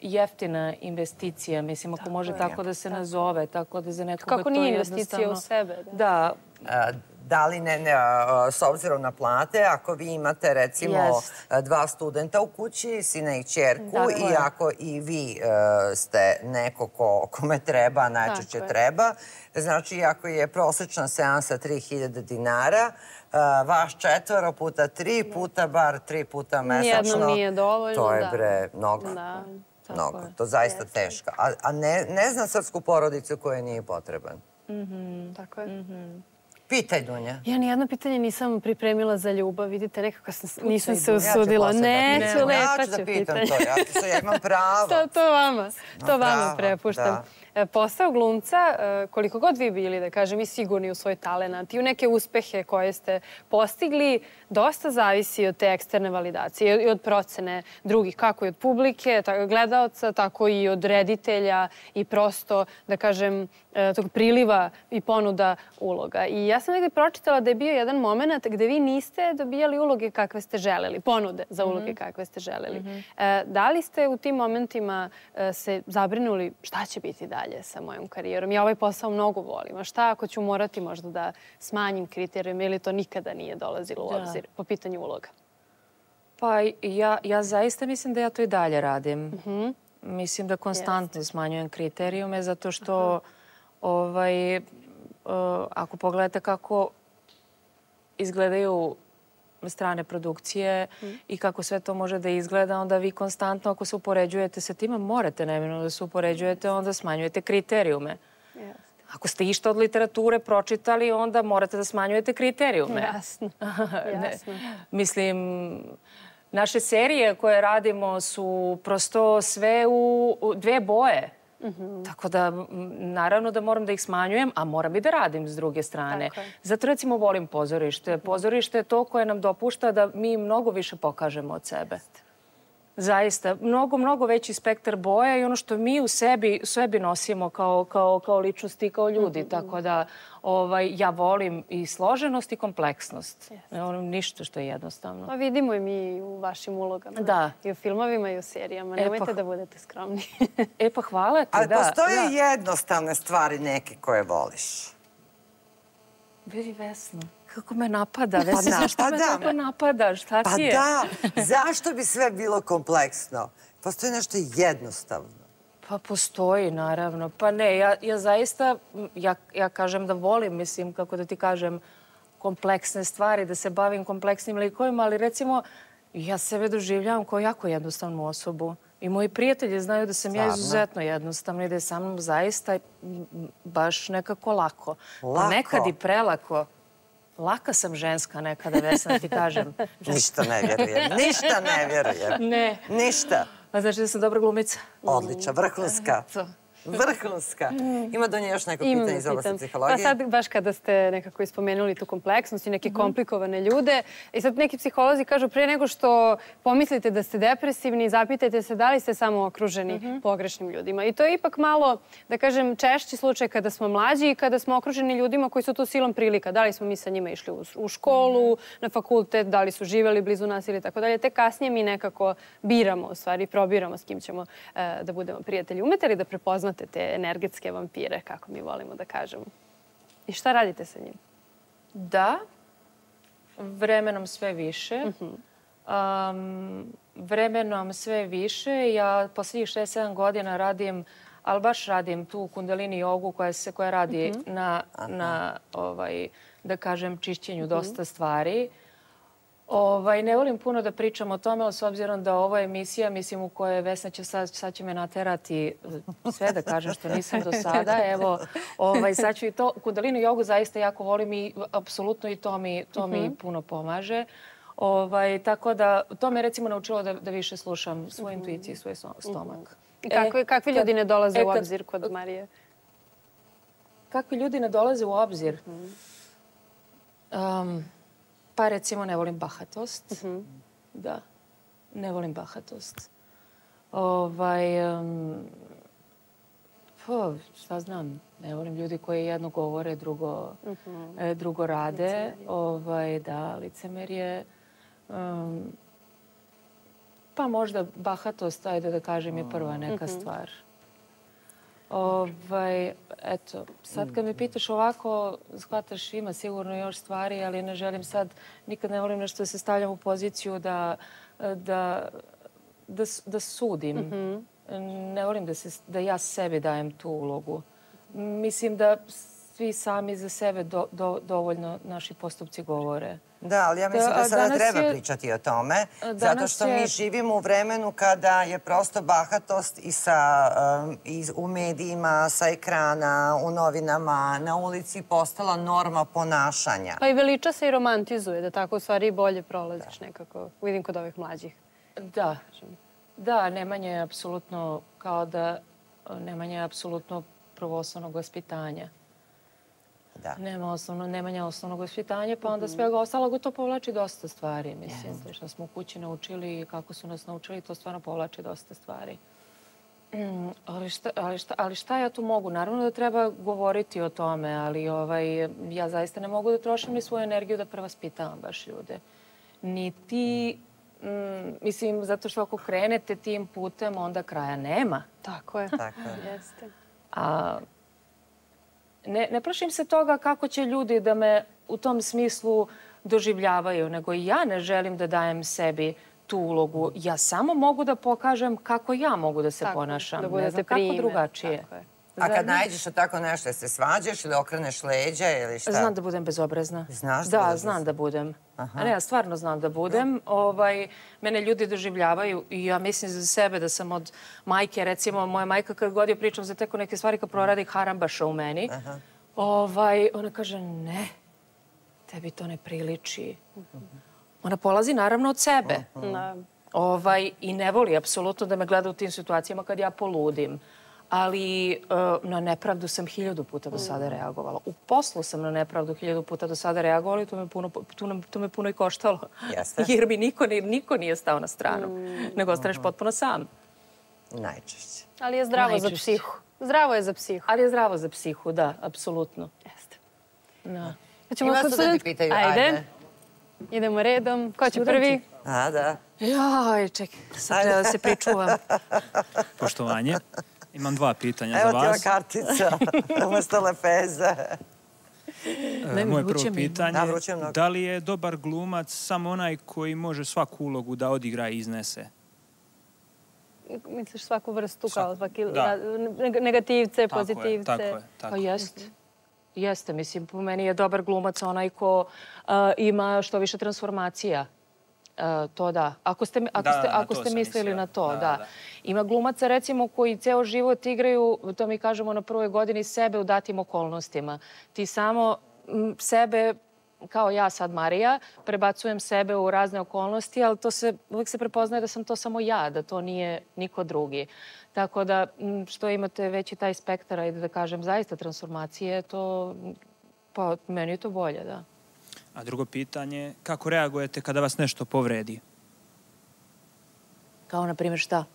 S3: jeftina investicija, mislim, ako može tako da se nazove, tako da za nekoga to
S4: kako nije investicija u sebe.
S2: Da. Da li s obzirom na plate, ako vi imate recimo 2 studenta u kući, sina i ćerku, i ako i vi ste neko kome treba, najčešće treba, znači ako je prosječna seansa 3000 dinara, vaš 4 puta 3 puta bar 3 puta mesečno.
S4: Nijednom nije dovoljno.
S2: To je bre mnogo. To je zaista teško. A ne znam srpsku porodicu koja nije potreban.
S4: Tako je.
S2: Pitaj, Dunja.
S4: Ja nijedno pitanje nisam pripremila za ljubav. Vidite, nekako nisam se usudila. Neću, lepa ću pitanje.
S2: Ja imam pravo.
S4: To vama prepuštam. Posao glumca, koliko god vi bili, da kažem, i sigurni u svoj talenat i u neke uspehe koje ste postigli, dosta zavisi od te eksterne validacije i od procene drugih, kako i od publike, gledaoca, tako i od reditelja i prosto, da kažem, tog priliva i ponuda uloga. I ja sam negdje pročitala da je bio jedan moment gde vi niste dobijali uloge kakve ste želeli, ponude za uloge kakve ste želeli. Da li ste u tim momentima se zabrinuli šta će biti dalje sa mojom karijerom? Ja ovaj posao mnogo volim. A šta ako ću morati možda da smanjim kriterijume ili to nikada nije dolazilo u obzir po pitanju uloga?
S3: Pa ja zaista mislim da ja to i dalje radim. Mislim da konstantno smanjujem kriterijume zato što ako pogledate kako izgledaju strane produkcije i kako sve to može da izgleda, onda vi konstantno, ako se upoređujete sa tima, morate neminovno da se upoređujete, onda smanjujete kriterijume. Ako ste išta od literature pročitali, onda morate da smanjujete kriterijume.
S4: Jasno.
S3: Mislim, naše serije koje radimo su prosto sve u 2 boje. Tako da, naravno da moram da ih smanjujem, a moram i da radim s druge strane. Zato recimo volim pozorište. Pozorište je to koje nam dopušta da mi mnogo više pokažemo od sebe. Zaista, mnogo veći spektar boja i ono što mi u sebi nosimo kao ličnosti i kao ljudi. Tako da ja volim i složenost i kompleksnost. Ne volim ništa što je jednostavno.
S4: Pa vidimo i mi u vašim ulogama.
S3: Da.
S4: I u filmovima i u serijama. Nemojte da budete skromni.
S3: Pa hvala ti, da.
S2: Ali postoje jednostavne stvari neke koje voliš.
S3: Vidi, Vesno. Kako me napada? Vesi, zašto me tako napada? Šta ti je?
S2: Pa da, zašto bi sve bilo kompleksno? Postoji nešto jednostavno.
S3: Pa postoji, naravno. Pa ne, ja zaista, ja kažem da volim, mislim, kako da ti kažem, kompleksne stvari, da se bavim kompleksnim likovima, ali recimo, ja sebe doživljavam kao jako jednostavnu osobu. I moji prijatelji znaju da sam ja izuzetno jednostavna i da je sa mnom zaista baš nekako lako. Nekad i prelako. Laka sam ženska nekada, Vesna, ti kažem.
S2: Ništa ne vjerujem. Ništa ne vjerujem.
S3: Ne.
S2: Ništa.
S3: A znači da sam dobra glumica?
S2: Odlična, vrhunska. Vrhunska. Ima do nje još neko pitanje iz oblasti psihologije?
S4: Pa sad, baš kada ste nekako ispomenuli tu kompleksnost i neke komplikovane ljude, i sad neki psiholozi kažu pre nego što pomislite da ste depresivni, zapitajte se da li ste samo okruženi pogrešnim ljudima. I to je ipak malo, da kažem, češći slučaj kada smo mlađi i kada smo okruženi ljudima koji su tu silom prilika. Da li smo mi sa njima išli u školu, na fakultet, da li su živeli blizu nas ili tako dalje. Te kasnije mi nekako biramo, u stvari, probiramo s kim ćemo da budemo prijatelji. Umete li da prepoznate te energetske vampire, kako mi volimo da kažemo? I šta radite sa njim?
S3: Da, vremenom sve više. Vremenom sve više. Ja posljednjih 6-7 godina radim, ali baš radim tu kundalini jogu koja radi na da kažem, čišćenju dosta stvari. Ne volim puno da pričam o tome, ali s obzirom da ovo je emisija, mislim, u kojoj Vesna će sad će me naterati sve da kažem što nisam do sada. Evo, sad ću i to. Kundalini jogu zaista jako volim i apsolutno i to mi puno pomaže. Tako da, to me recimo naučilo da više slušam svoju intuiciju i svoj stomak.
S4: Kakvi ljudi ne dolaze u obzir kod Marije?
S3: Kakvi ljudi ne dolaze u obzir? Pa recimo ne volim bahatost. Da, ne volim bahatost. Šta znam, ne volim ljudi koji jedno govore, drugo rade. Da, licemerje. Pa možda bahatost, ajde da kažem, je prva neka stvar. Eto, sad kad me pitaš ovako, shvataš, ima sigurno još stvari, ali ne želim sad, nikad ne volim nešto da se stavljam u poziciju da sudim. Ne volim da ja sebi dajem tu ulogu. Mislim da svi sami za sebe dovoljno naši postupci govore.
S2: Da, ali ja mislim da sada treba pričati o tome, zato što mi živimo u vremenu kada je prosto bahatost i u medijima, sa ekrana, u novinama, na ulici postala norma ponašanja.
S4: Pa i veliča se i romantizuje, da tako u stvari bolje prolaziš nekako. Vidim kod ovih mlađih.
S3: Da. Da, Nemanja je apsolutno kao da Nemanja je apsolutno prvoslovnog vaspitanja. Nemanja osnovnog vaspitanja, pa onda svega ostalog to povlači dosta stvari. Mislim, to što smo u kući naučili i kako su nas naučili, to stvarno povlači dosta stvari. Ali šta ja tu mogu? Naravno da treba govoriti o tome, ali ja zaista ne mogu da trošim ni svoju energiju da prevaspitavam baš ljude. Niti, mislim, zato što ako krenete tim putem, onda kraja nema.
S4: Tako je.
S3: Jeste. Ne plašim se toga kako će ljudi da me u tom smislu doživljavaju, nego i ja ne želim da dajem sebi tu ulogu. Ja samo mogu da pokažem kako ja mogu da se ponašam. Ne znam kako drugačije.
S2: A kad nađeš tako nešto, se svađaš ili okreneš leđa ili šta?
S3: Znam da budem bezobrazna.
S2: Znaš da budem?
S3: Da, znam da budem. Ne, ja stvarno znam da budem. Mene ljudi doživljavaju i ja mislim za sebe da sam od majke, recimo moja majka kad god je pričam za teko neke stvari kad proradi harambaša u meni, ona kaže ne, tebi to ne priliči. Ona polazi naravno od sebe. I ne voli apsolutno da me gleda u tim situacijama kad ja poludim. Ali na nepravdu sam 1000 puta do sada reagovala. U poslu sam na nepravdu 1000 puta do sada reagovala i to me puno i koštalo. Jer mi niko nije stao na stranu, nego ostaneš potpuno sam.
S2: Najčešće.
S4: Ali je zdravo za psihu. Zdravo je za psihu.
S3: Ali je zdravo za psihu, da, apsolutno.
S4: Jeste.
S2: Ima su da ti pitaju, ajde.
S4: Idemo redom. Ko će prvi?
S2: Da.
S3: Jaj, čekaj, sad treba da se pričuvam.
S5: Poštovanje. Imam 2 pitanja za vas.
S2: Evo ti ova kartica, umesto lepeze.
S5: Moje prvo pitanje, da li je dobar glumac samo onaj koji može svaku ulogu da odigra i iznese?
S4: Misliš svaku vrstu kao svaki negativce, pozitivce?
S5: Tako je.
S3: Pa jeste. Mislim, po meni je dobar glumac onaj ko ima što više transformacija. To da. Ako ste mislili na to, da. Ima glumaca, recimo, koji ceo život igraju, to mi kažemo na prvoj godini, sebe u datim okolnostima. Ti samo sebe, kao ja sad Marija, prebacujem sebe u razne okolnosti, ali uvijek se prepoznaje da sam to samo ja, da to nije niko drugi. Tako da, što imate veći taj spektar, ajde da kažem, zaista transformacije, to, pa meni je to bolje, da.
S5: A drugo pitanje, kako reagujete kada vas nešto povredi?
S3: Kao, na primjer, šta?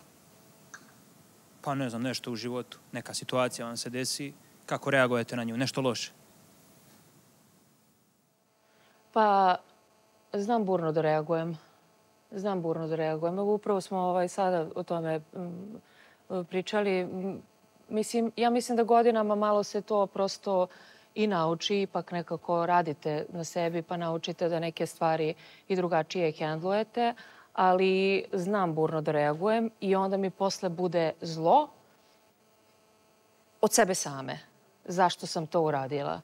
S5: Pa ne znam, nešto u životu. Neka situacija vam se desi. Kako reagujete na nju? Nešto loše?
S3: Pa, znam burno da reagujem. Upravo smo sada o tome pričali. Ja mislim da godinama malo se to prosto i nauči, ipak nekako radite na sebi pa naučite da neke stvari i drugačije hendlujete, ali znam burno da reagujem i onda mi posle bude zlo od sebe same. Zašto sam to uradila?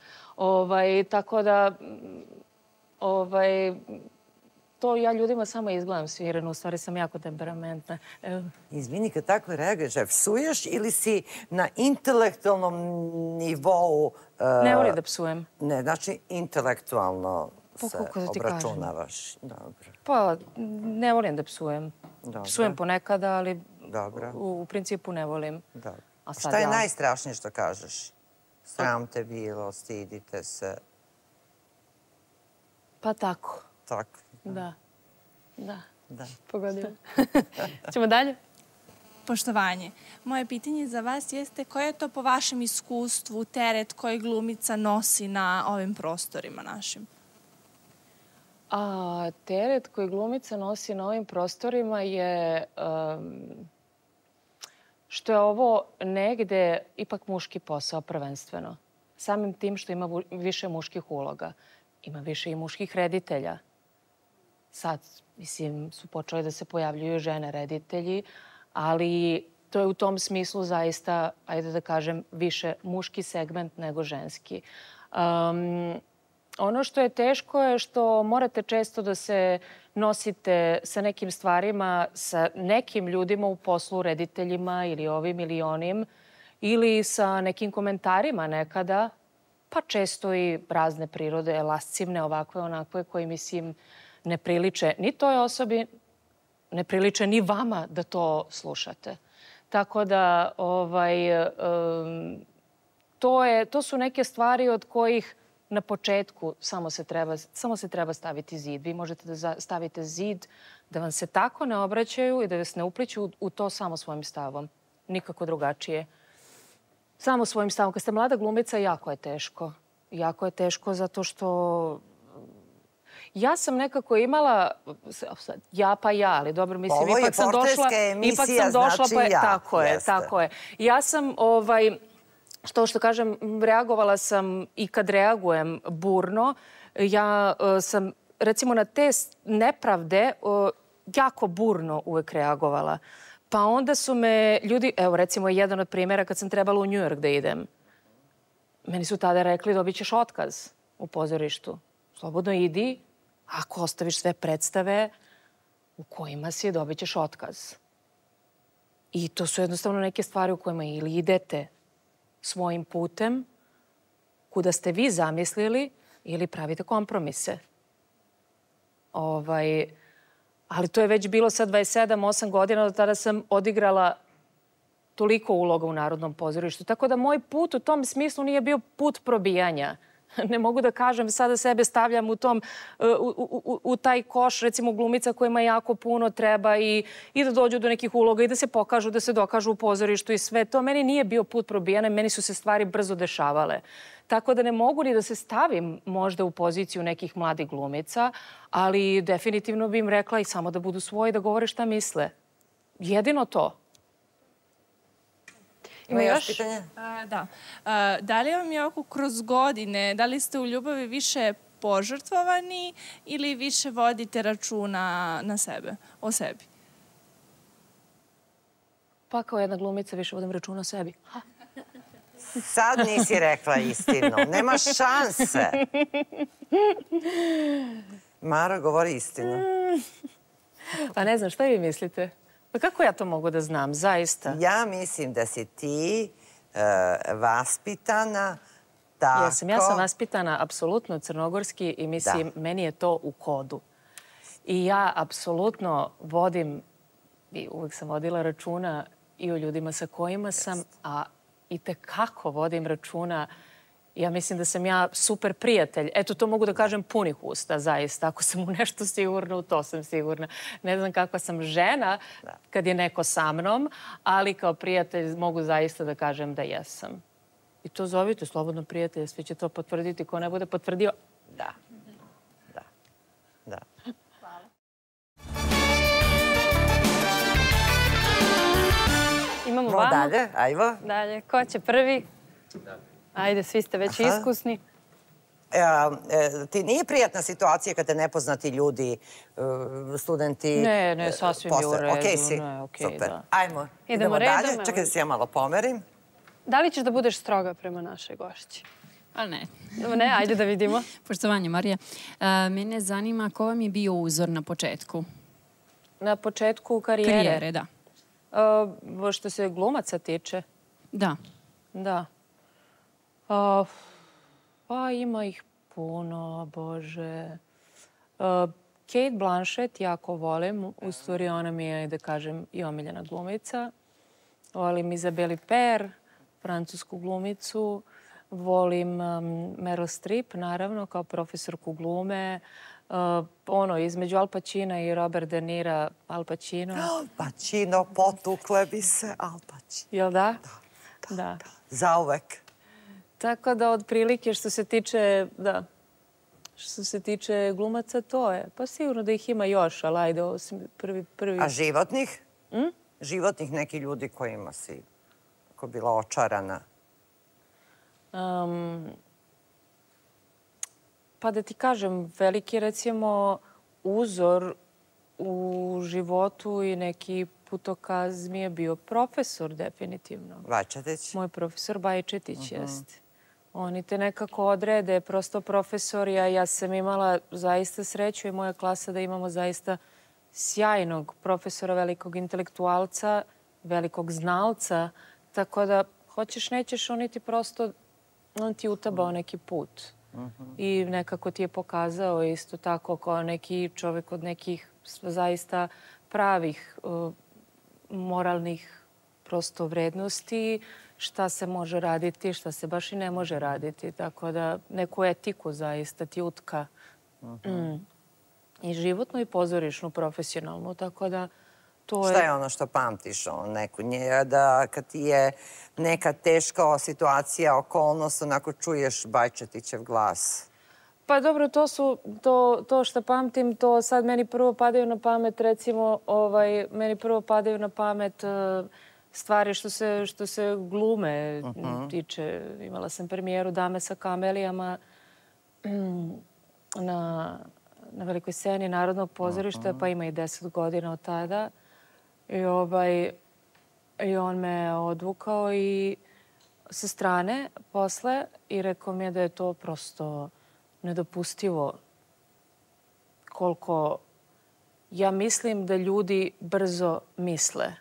S3: Tako da to ja ljudima samo izgledam svireno, u stvari sam jako temperamentna.
S2: Izvini, kad tako reaguješ, psuješ ili si na intelektualnom nivou...
S3: Ne volim da psujem.
S2: Ne, znači intelektualno se obračunavaš.
S3: Pa, ne volim da psujem. Psujem ponekada, ali u principu ne volim.
S2: Šta je najstrašnije što kažeš? Sram te bilo, stidite se.
S3: Pa tako.
S2: Tako.
S3: Da.
S4: Pogodila. Ćemo dalje?
S6: Poštovanje. Moje pitanje za vas jeste koji je to po vašem iskustvu teret koji glumica nosi na ovim prostorima našim?
S3: Teret koji glumica nosi na ovim prostorima je što je ovo negde ipak muški posao prvenstveno. Samim tim što ima više muških uloga. Ima više i muških reditelja. Sad, mislim, su počeli da se pojavljuju žene reditelji, ali to je u tom smislu zaista, ajde da kažem, više muški segment nego ženski. Ono što je teško je što morate često da se nosite sa nekim stvarima, sa nekim ljudima u poslu, rediteljima ili ovim ili onim, ili sa nekim komentarima nekada, pa često i razne prirode, lascivne, ovakve, onakve, koji, mislim, ne priliče ni toj osobi, ne priliče ni vama da to slušate. Tako da, to su neke stvari od kojih na početku samo se treba staviti zid. Vi možete da stavite zid da vam se tako ne obraćaju i da vas ne upliću u to samo svojim stavom. Nikako drugačije. Samo svojim stavom. Kad ste mlada glumica, jako je teško. Jako je teško zato što... Ja sam nekako imala, ali dobro, mislim, ipak sam došla...
S2: Ovo je portretska emisija, znači ja.
S3: Tako je. Ja sam, što kažem, reagovala sam i kad reagujem burno. Ja sam, recimo, na te nepravde jako burno uvek reagovala. Pa onda su me ljudi, evo recimo jedan od primjera kad sam trebala u New York da idem. Meni su tada rekli dobit ćeš otkaz u pozorištu. Slobodno idi, ako ostaviš sve predstave u kojima si dobit ćeš otkaz. I to su jednostavno neke stvari u kojima ili idete svojim putem kuda ste vi zamislili ili pravite kompromise. Ali to je već bilo sad 27-8 godina, do tada sam odigrala toliko uloga u Narodnom pozorištu. Tako da moj put u tom smislu nije bio put probijanja. Ne mogu da kažem, sada sebe stavljam u taj koš, recimo glumica kojima jako puno treba i da dođu do nekih uloga i da se pokažu, da se dokažu u pozorištu i sve to. Meni nije bio put probijanja, meni su se stvari brzo dešavale. Tako da ne mogu ni da se stavim možda u poziciju nekih mladih glumica, ali definitivno bi im rekla i samo da budu svoji, da govore šta misle. Jedino to.
S2: Ima još pitanje?
S6: Da. Da li vam je ovako kroz godine, da li ste u ljubavi više požrtvovani ili više vodite računa na sebe, o sebi?
S3: Pa kao jedna glumica više vodim računa o sebi.
S2: Sad nisi rekla istinu. Nema šanse. Maro, govori istinu.
S3: Pa ne znam, šta vi mislite? Pa kako ja to mogu da znam, zaista?
S2: Ja mislim da si ti vaspitana tako...
S3: Ja sam vaspitana apsolutno crnogorski i mislim, meni je to u kodu. I ja apsolutno vodim, i uvijek sam vodila računa i o ljudima sa kojima sam, a i tekako vodim računa. Ja mislim da sam ja super prijatelj. Eto, to mogu da kažem punih usta, zaista. Ako sam u nešto sigurna, u to sam sigurna. Ne znam kakva sam žena kad je neko sa mnom, ali kao prijatelj mogu zaista da kažem da jesam. I to zovite slobodno prijatelje, svi će to potvrditi. Ko ne bude potvrdio,
S2: da.
S6: Hvala.
S4: Imamo vamo.
S2: Dalje, ajmo.
S4: Dalje, ko će prvi? Ajde, svi ste već iskusni.
S2: Ti nije prijatna situacija kada te nepoznati ljudi, studenti...
S3: Ne, sasvim je u redu.
S2: Okej si? Super. Ajmo, idemo dalje. Čekaj da se ja malo pomerim.
S4: Da li ćeš da budeš stroga prema našoj gošći?
S7: Ali ne.
S4: Ne, ajde da vidimo.
S7: Poštovanje, Marija. Mene zanima ko vam je bio uzor na početku?
S3: Na početku karijere?
S7: Karijere, da.
S3: Što se glumaca tiče?
S7: Da.
S3: Da. Pa ima ih puno, Bože. Kate Blanchett jako volim. U stvari ona mi je, da kažem, i omiljena glumica. Volim Isabelle Huppert, francusku glumicu. Volim Meryl Streep, naravno, kao profesorku glume. Između Al Pacina i Robert De Nira, Al Pacino.
S2: Al Pacino, potukle bi se Al Pacino.
S3: Jel da?
S2: Da. Zauvek.
S3: Tako da, otprilike, što se tiče glumaca, to je. Pa sigurno da ih ima još, ali ajde, ovo si prvi...
S2: A životnih? Životnih neki ljudi kojima si bila očarana?
S3: Pa da ti kažem, veliki, recimo, uzor u životu i neki putokaz mi je bio profesor, definitivno.
S2: Bajčetić?
S3: Moj profesor Bajčetić, jeste. Oni te nekako odrede, prosto profesor. Ja sam imala zaista sreću i moja klasa da imamo zaista sjajnog profesora, velikog intelektualca, velikog znalca. Tako da, hoćeš, nećeš, on ti utabao neki put. I nekako ti je pokazao isto tako kao neki čovjek od nekih zaista pravih moralnih prosto vrednosti, šta se može raditi, šta se baš i ne može raditi. Tako da neku etiku zaista ti utka. I životnu i pozorišnu, profesionalnu. Tako da to je...
S2: Šta je ono što pamtiš? Da kad ti je neka teška situacija, okolnost, onako čuješ Bajčetićev glas?
S3: Pa dobro, to što pamtim, to sad meni prvo padaju na pamet, recimo, stvari što se glume tiče. Imala sam premijeru Dame sa kamelijama na velikoj sceni Narodnog pozorišta, pa ima i 10 godina od tada. I on me odvukao i sa strane posle i rekao mi je da je to prosto nedopustivo koliko ja mislim da ljudi brzo misle.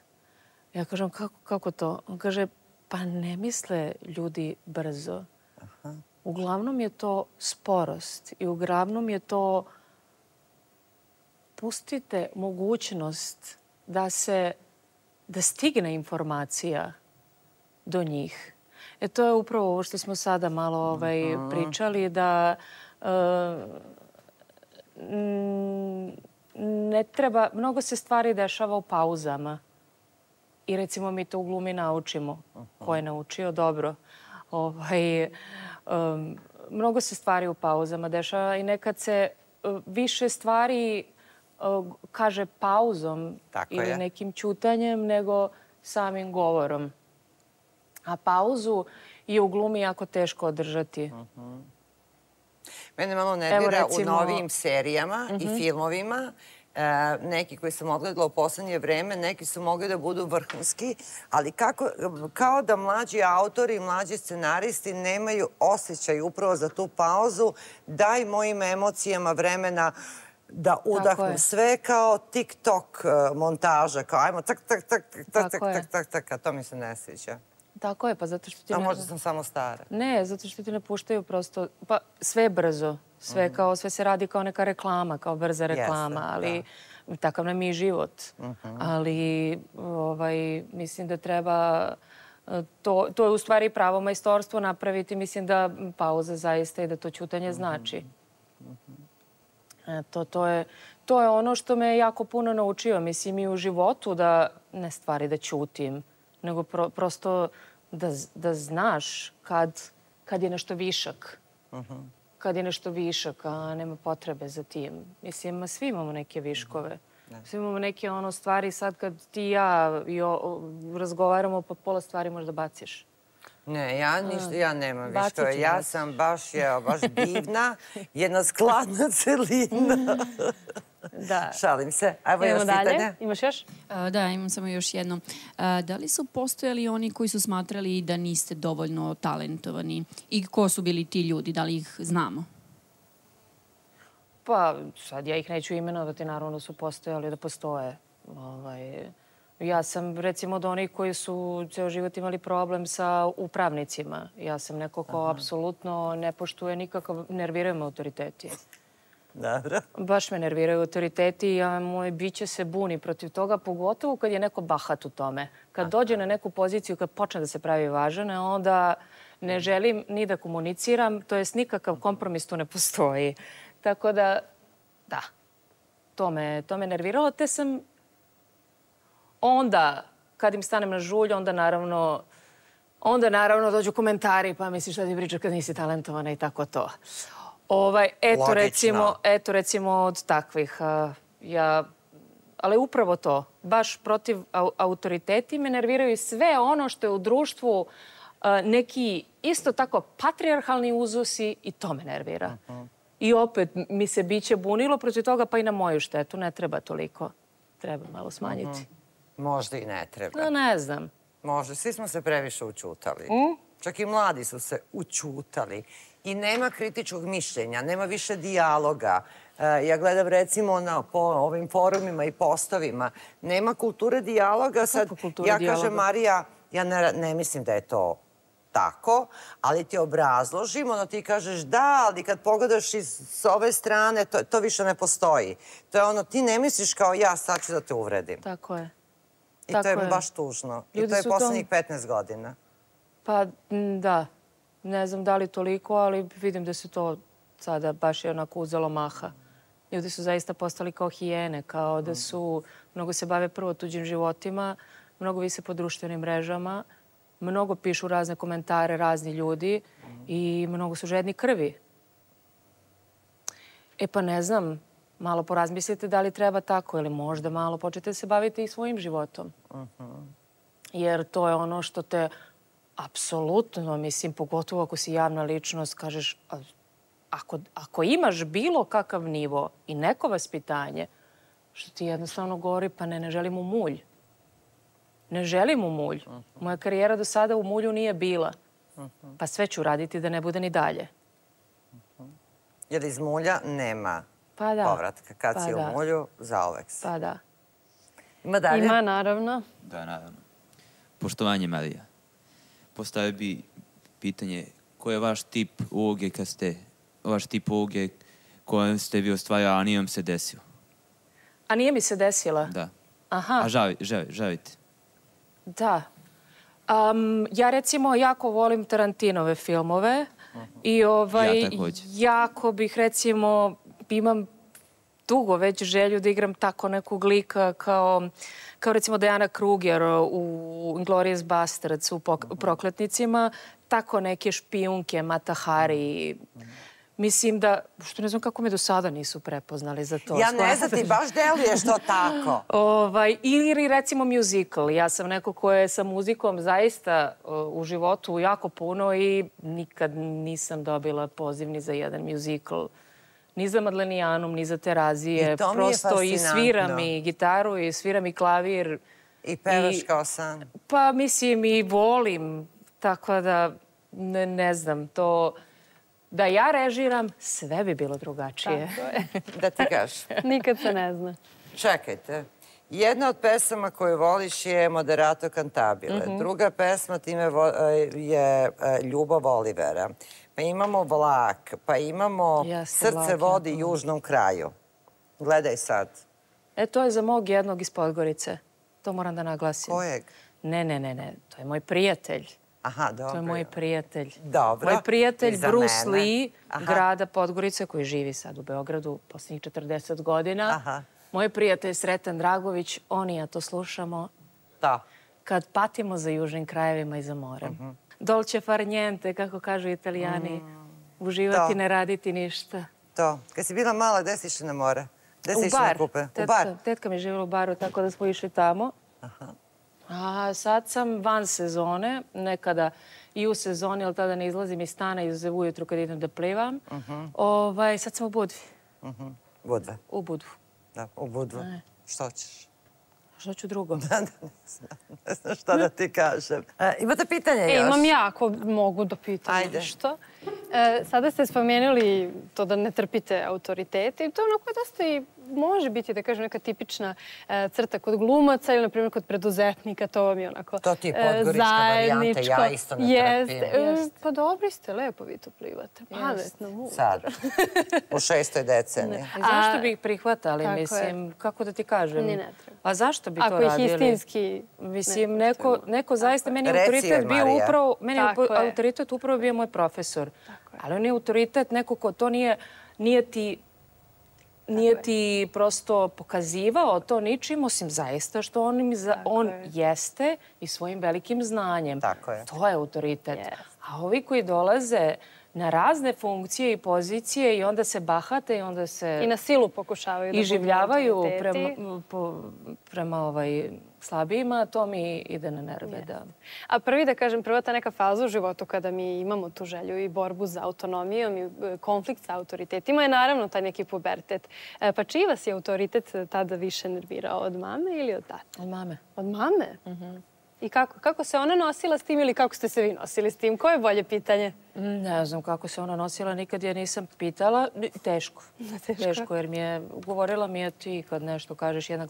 S3: Ja kažem, kako to? On kaže, pa ne misle ljudi brzo. Uglavnom je to sporost i uglavnom je to pustite mogućnost da stigne informacija do njih. To je upravo ovo što smo sada malo pričali, da ne treba, mnogo se stvari dešava u pauzama. I recimo mi to u glumi naučimo. Ko je naučio? Dobro. Mnogo se stvari u pauzama dešava i nekad se više stvari kaže pauzom ili nekim ćutanjem nego samim govorom. A pauzu je u glumi jako teško održati.
S2: Mene malo nervira u novijim serijama i filmovima. Neki koji sam odgledala u poslednje vreme, neki su mogli da budu vrhunski, ali kao da mlađi autori i mlađi scenaristi nemaju osjećaj upravo za tu pauzu. Daj mojim emocijama vremena da udahnu. Sve kao TikTok montaža, kao ajmo tak, tak, tak, tak, tak, tak, tak, tak, a to mi se ne sviđa.
S3: Tako je, pa zato što ti...
S2: A možda sam samo stara.
S3: Ne, zato što ti ne puštaju prosto... Pa sve je brzo. Sve se radi kao neka reklama, kao brza reklama, ali takav nam je i život. Ali mislim da treba... To je u stvari pravo majstorstvo napraviti. Mislim da pauza zaista i da to ćutanje znači. To je ono što me jako puno naučio. Mislim i u životu da ne stvari da ćutim, nego prosto da znaš kad je nešto višak. Kad je nešto višak, a nema potrebe za tim. Mislim, svi imamo neke viškove. Svi imamo neke stvari sad kad ti i ja razgovaramo, pa pola stvari možda baciš.
S2: Ne, ja nemam viškove. Ja sam baš divna, jedna skladna celina. Šalim se. Evo još pitanje.
S4: Imaš još?
S7: Da, imam samo još jedno. Da li su postojali oni koji su smatrali da niste dovoljno talentovani? I ko su bili ti ljudi? Da li ih znamo?
S3: Pa, sad ja ih neću imenovati, naravno su postojali da postoje. Ja sam, recimo, od onih koji su ceo život imali problem sa upravnicima. Ja sam neko ko apsolutno ne poštuje nikakav, nerviraju me autoriteti.
S2: Dobro.
S3: Baš me nerviraju autoriteti, a moje biće se buni protiv toga, pogotovo kad je neko bahat u tome. Kad dođe na neku poziciju, kad počne da se pravi važan, onda ne želim ni da komuniciram, to jest nikakav kompromis tu ne postoji. Tako da, to me nerviralo, te sam onda, kad im stanem na žulj, onda naravno dođu komentari, pa misliš šta ti pričaš kad nisi talentovana i tako to. Eto recimo od takvih. Ali upravo to, baš protiv autoriteti me nerviraju i sve ono što je u društvu neki isto tako patrijarhalni uzusi i to me nervira. I opet mi se biće bunilo protiv toga, pa i na moju štetu. Ne treba toliko. Treba malo smanjiti.
S2: Možda i ne treba.
S3: Ne znam.
S2: Možda. Svi smo se previše učutali. Čak i mladi su se učutali. I nema kritičkog mišljenja, nema više dijaloga. Ja gledam recimo po ovim forumima i postovima. Nema kulture dijaloga. Sad ja kažem, Marija, ja ne mislim da je to tako, ali ti obrazložim, ti kažeš da, ali kad pogledaš s ove strane, to više ne postoji. To je ti ne misliš kao ja, sad ću da te uvredim.
S3: Tako je.
S2: I to je baš tužno. I to je poslednjih 15 godina.
S3: Pa da, ne znam da li toliko, ali vidim da se to sada baš je onako uzelo maha. Ljudi su zaista postali kao hijene, kao da su, mnogo se bave prvo tuđim životima, mnogo vise po društvenim mrežama, mnogo pišu razne komentare razni ljudi i mnogo su žedni krvi. Pa ne znam, malo porazmislite da li treba tako ili možda malo počete se baviti i svojim životom. Jer to je ono što te apsolutno, mislim, pogotovo ako si javna ličnost, kažeš, ako imaš bilo kakav nivo i neko vaspitanje, što ti jednostavno govori, pa ne želim u mulj. Ne želim u mulj. Moja karijera do sada u mulju nije bila. Pa sve ću raditi da ne bude ni dalje.
S2: Jer iz mulja nema povratka. Kad si u mulju, zauvek si.
S3: Pa da.
S2: Ima dalje?
S4: Ima, naravno.
S8: Da, naravno. Poštovanje, Melija. Postavio bi pitanje, koji je vaš tip uloge kojem ste vi ostvarili, a nije vam se desilo?
S3: A nije mi se desila?
S8: Da.
S3: Aha.
S8: A želite?
S3: Da. Ja recimo jako volim Tarantinove filmove i jako bih recimo, imam dugo već želju da igram tako nekog lika kao recimo Diana Kruger u Inglourious Basterds u Prokletnicima, tako neke špijunke, Mata Hari. Mislim da, što ne znam kako me do sada nisu prepoznali za to.
S2: Ja ne znam, ti baš deluješ to tako.
S3: Ili recimo musical. Ja sam neko ko je sa muzikom zaista u životu jako puno i nikad nisam dobila poziv ni za jedan musical. Ni za Madlenijanum, ni za Terazije. Prosto i sviram i gitaru i sviram i klavir.
S2: I pevaš kao san.
S3: Pa mislim i volim. Tako da ne znam, to... Da ja režiram, sve bi bilo drugačije.
S4: Tako je.
S2: Da ti kažeš.
S4: Nikad se ne zna.
S2: Čekajte. Jedna od pesama koju voliš je Moderato Cantabile. Druga pesma time je Ljubav Olivera. Pa imamo Vlak, pa imamo Srce vodi južnom kraju. Gledaj sad.
S3: To je za mog jednog iz Podgorice. To moram da naglasim.
S2: Kojeg?
S3: Ne. To je moj prijatelj.
S2: Aha, dobro.
S3: To je moj prijatelj.
S2: Dobro.
S3: Moj prijatelj Bruce Lee, grada Podgorice, koji živi sad u Beogradu posljednjih 40 godina. Moj prijatelj Sreten Dragović, on i ja to slušamo.
S2: Da.
S3: Kad patimo za južnim krajevima i za morem. Dolce far niente, kako kažu Italijani. Uživati, ne raditi ništa.
S2: To. Kad si bila mala, gde si išla na more? Gde si išla na kupe?
S3: U bar. Tetka mi je živjela u baru, tako da smo išli tamo. A sad sam van sezone, nekada i u sezoni, ali tada ne izlazim iz stana, izuzev ujutru kad idem da plivam. Sad sam u Budvi.
S2: Budve?
S3: U Budvu.
S2: Da, u Budvu. Što ćeš?
S3: Što ću drugo?
S2: Ne znam šta da ti kažem. Imate pitanje još?
S4: Imam ja, ako mogu da pitam nešto. Sada ste spomenuli to da ne trpite autoritete i to onako dosta i može biti, da kažem, neka tipična crta kod glumaca ili, na primjer, kod preduzetnika. To vam je onako
S2: to ti je podgorička varijanta, ja isto ne trpim.
S4: Pa dobri ste, lepo vi to plivate. Pametno, mudro.
S2: Sad, u 6. deceniji.
S3: Zašto bi ih prihvatali, mislim, kako da ti kažem?
S4: Ni ne treba.
S3: A zašto bi to radili?
S4: Ako ih istinski...
S3: Mislim, neko zaista, meni je autoritet bio upravo, meni je autoritet upravo bio moj profesor. Ali on je autoritet neko ko to nije ti prosto pokazivao to ničim, osim zaista što on jeste i svojim velikim znanjem. To je autoritet. A ovi koji dolaze na razne funkcije i pozicije i onda se bahate i onda se...
S4: I na silu pokušavaju da
S3: iživljavaju prema slabijima, to mi ide na nerve.
S4: A prva ta neka faza u životu kada mi imamo tu želju i borbu za autonomijom i konflikt sa autoritetima je naravno taj neki pubertet. Pa čiji vas je autoritet tada više nervirao? Od mame ili od tate?
S3: Od mame.
S4: Od mame? I kako se ona nosila s tim ili kako ste se vi nosili s tim? Koje je bolje pitanje?
S3: Ne znam kako se ona nosila, nikad je nisam pitala. Teško. Teško, jer govorila mi je ti kad nešto kažeš jedna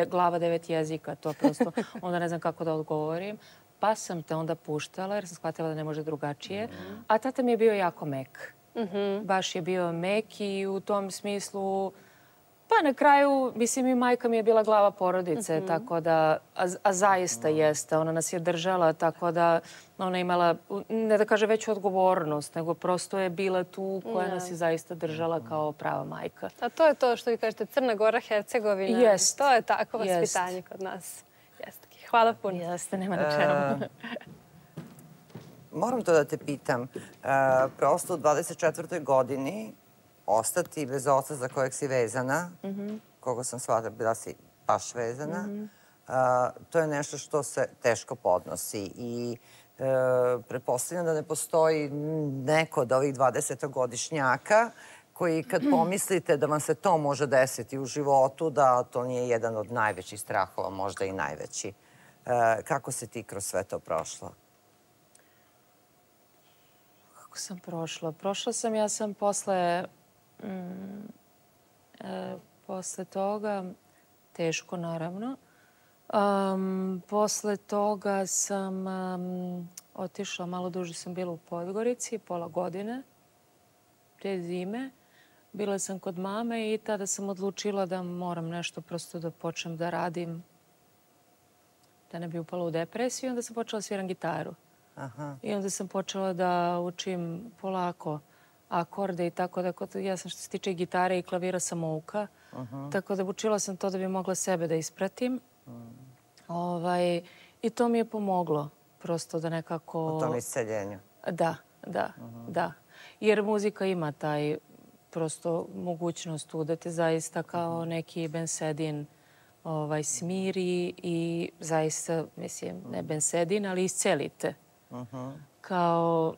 S3: glava 9 jezika, to prosto, onda ne znam kako da odgovorim. Pa sam te onda puštala jer sam shvatila da ne može drugačije. A tata mi je bio jako mek. Baš je bio mek i u tom smislu... Pa na kraju, mislim, i majka mi je bila glava porodice, tako da, a zaista jeste, ona nas je držala, tako da ona imala, ne da kaže veću odgovornost, nego prosto je bila tu koja nas je zaista držala kao prava majka.
S4: A to je to što vi kažete, Crna Gora, Hercegovina.
S3: Jest.
S4: To je tako vaspitanje kod nas. Hvala puno.
S3: Jeste, nema na čemu.
S2: Moram to da te pitam. Prosto u 24. godini ostati bez oca za kojeg si vezana, koga sam shvatila, bila si baš vezana, to je nešto što se teško podnosi i pretpostavljam da ne postoji neko od ovih 20-godišnjaka koji kad pomislite da vam se to može desiti u životu, da to nije jedan od najvećih strahova, možda i najveći. Kako si ti kroz sve to prošla?
S3: Kako sam prošla? Prošla sam, ja sam posle toga, teško naravno, posle toga sam otišla, malo duže sam bila u Podgorici, pola godine, te zime. Bila sam kod mame i tada sam odlučila da moram nešto prosto da počnem da radim, da ne bi upala u depresiju. Onda sam počela sviram gitaru. I onda sam počela da učim polako akorde i tako da ja sam što se tiče gitare i klavira samouka. Tako da učila sam to da bi mogla sebe da ispratim. I to mi je pomoglo prosto da nekako...
S2: U tom isceljenju.
S3: Da. jer muzika ima taj prosto mogućnost tu da te zaista kao neki bensedin smiri i zaista, mislim, ne bensedin, ali iscelite. Kao,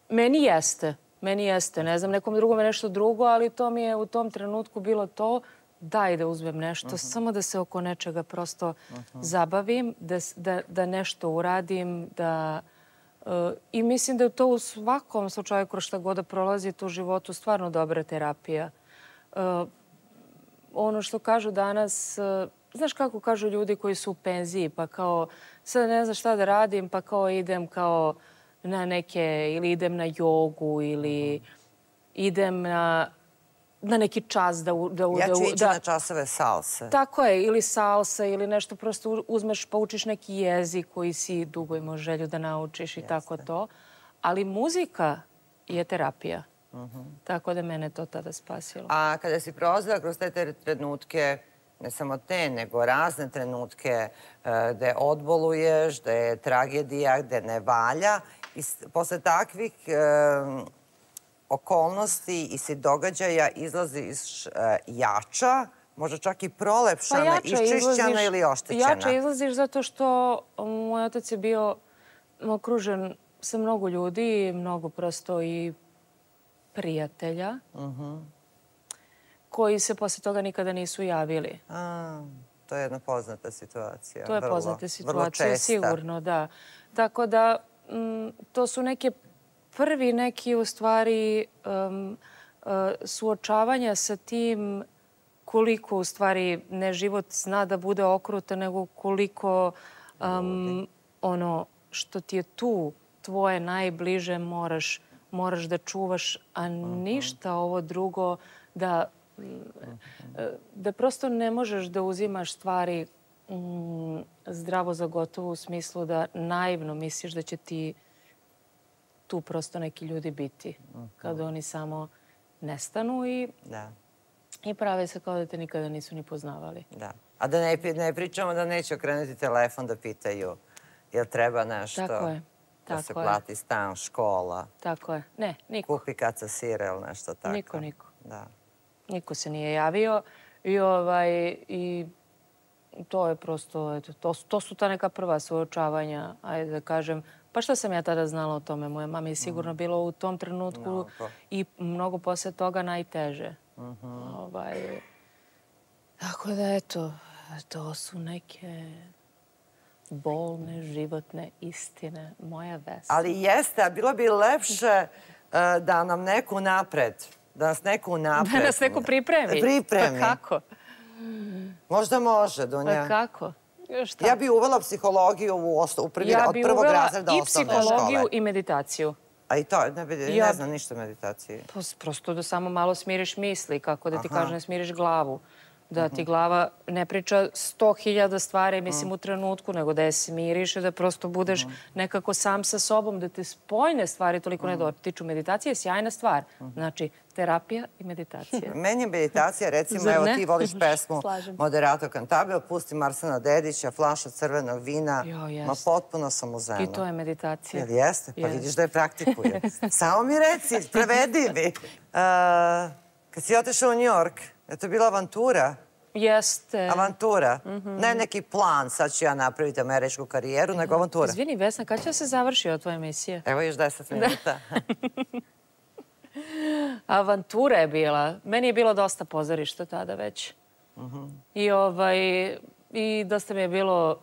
S3: meni jeste, ne znam, nekom drugom je nešto drugo, ali to mi je u tom trenutku bilo to, daj da uzmem nešto, samo da se oko nečega prosto zabavim, da nešto uradim, i mislim da je to u svakom slučaju kroz šta god da prolazi u životu stvarno dobra terapija. Ono što kažu danas, znaš kako kažu ljudi koji su u penziji, pa kao sad ne znam šta da radim, pa kao idem kao na neke, ili idem na jogu, ili idem na neki čas da...
S2: Ja ću ići na časove salse.
S3: Tako je, ili salsa, ili nešto prosto uzmeš pa učiš neki jezik koji si dugo imao želju da naučiš i tako to. Ali muzika je terapija. Tako da mene to tada spasilo.
S2: A kada si prolazila kroz te trenutke, ne samo te, nego razne trenutke gde odboluješ, gde je tragedija, gde ne valja, i posle takvih okolnosti i događaja izlaziš jača, možda čak i prolepšana, iščišćena ili oštećena.
S3: Jača izlaziš zato što moj otac je bio okružen sa mnogo ljudi, mnogo prosto i prijatelja, koji se posle toga nikada nisu javili.
S2: To je jedna poznata situacija.
S3: To je poznata situacija, sigurno, da. Tako da, to su prvi neki, u stvari, suočavanja sa tim koliko, u stvari, ne život zna da bude okrutan, nego koliko ono što ti je tu, tvoje najbliže, moraš da čuvaš, a ništa ovo drugo, da prosto ne možeš da uzimaš stvari zdravo za gotovo, u smislu da naivno misliš da će ti tu prosto neki ljudi biti. Kada oni samo nestanu i prave se kao da te nikada nisu ni poznavali.
S2: Da. A da ne pričamo da neće okrenuti telefon da pitaju jel treba nešto da se plati stan, škola.
S3: Tako je. Ne, niko.
S2: Kupi kaca sira ili nešto tako.
S3: Niko. Niko se nije javio i to je prosto, to su ta neka prva suočavanja, ajde da kažem. Pa šta sam ja tada znala o tome? Moja mama je sigurno bilo u tom trenutku i mnogo posle toga najteže. Tako da, eto, to su neke bolne, životne istine. Moja Vesna.
S2: Ali jeste, a bilo bi lepše da nam neko napred, da nas neko
S3: pripremi.
S2: Pripremi.
S3: Pa kako?
S2: Možda može, Dunja.
S3: Pa kako?
S2: Ja bih uvela psihologiju od prvog razreda osnovne škole.
S3: I psihologiju i meditaciju.
S2: A i to, ne znam ništa o meditaciji.
S3: Prosto da samo malo smiriš misli, kako da ti kažem, ne smiriš glavu. Da ti glava ne priča 100.000 stvari, mislim, u trenutku, nego da je smiriš i da prosto budeš nekako sam sa sobom, da te spojne stvari toliko ne dotiču. Meditacija je sjajna stvar. Znači, terapija i meditacija.
S2: Meni je meditacija, recimo, evo ti voliš pesmu Moderato Cantabile, pusti Arsena Dedića, flaša crvenog vina, ma potpuno sam u zenu.
S3: I to je meditacija.
S2: Jel jeste? Pa vidiš da je praktikujem. Samo mi reci, prevedi mi. Kad si otišao u New York, je to bila avantura?
S3: Jeste.
S2: Avantura. Ne neki plan, sad ću ja napraviti američku karijeru, nego avantura.
S3: Izvini, Vesna, kada će se završiti tvoja emisija?
S2: Evo još 10 minuta.
S3: Avantura je bila. Meni je bilo dosta pozorišta tada već. I dosta mi je bilo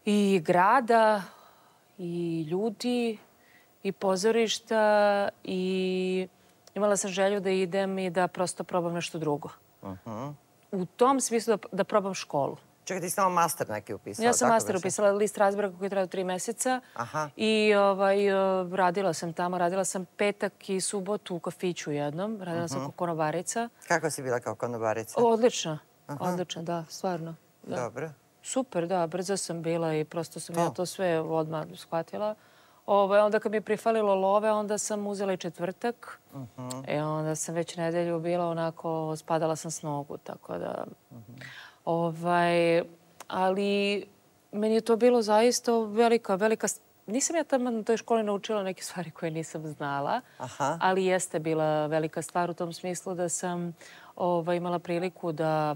S3: i grada, i ljudi, i pozorišta, i imala sam želju da idem i da prosto probam nešto drugo. U tom smislu da probam školu.
S2: Čekaj, ti si samo master neki upisala?
S3: Ja sam master upisala, list razbraka koji je trajao 3 meseca. I radila sam tamo. Radila sam petak i subotu u kafiću jednom. Radila sam kao konobarica.
S2: Kako si bila kao konobarica?
S3: Odlično. Odlično, da, stvarno.
S2: Dobro.
S3: Super, da. Brzo sam bila i prosto sam ja to sve odmah shvatila. Onda kad mi je prifalilo love, onda sam uzela i četvrtak. Onda sam već nedelju bila onako, spadala sam s nogu, tako da... Ali meni je to bilo zaista velika nisam ja tamo na toj školi naučila neke stvari koje nisam znala, ali jeste bila velika stvar u tom smislu da sam imala priliku da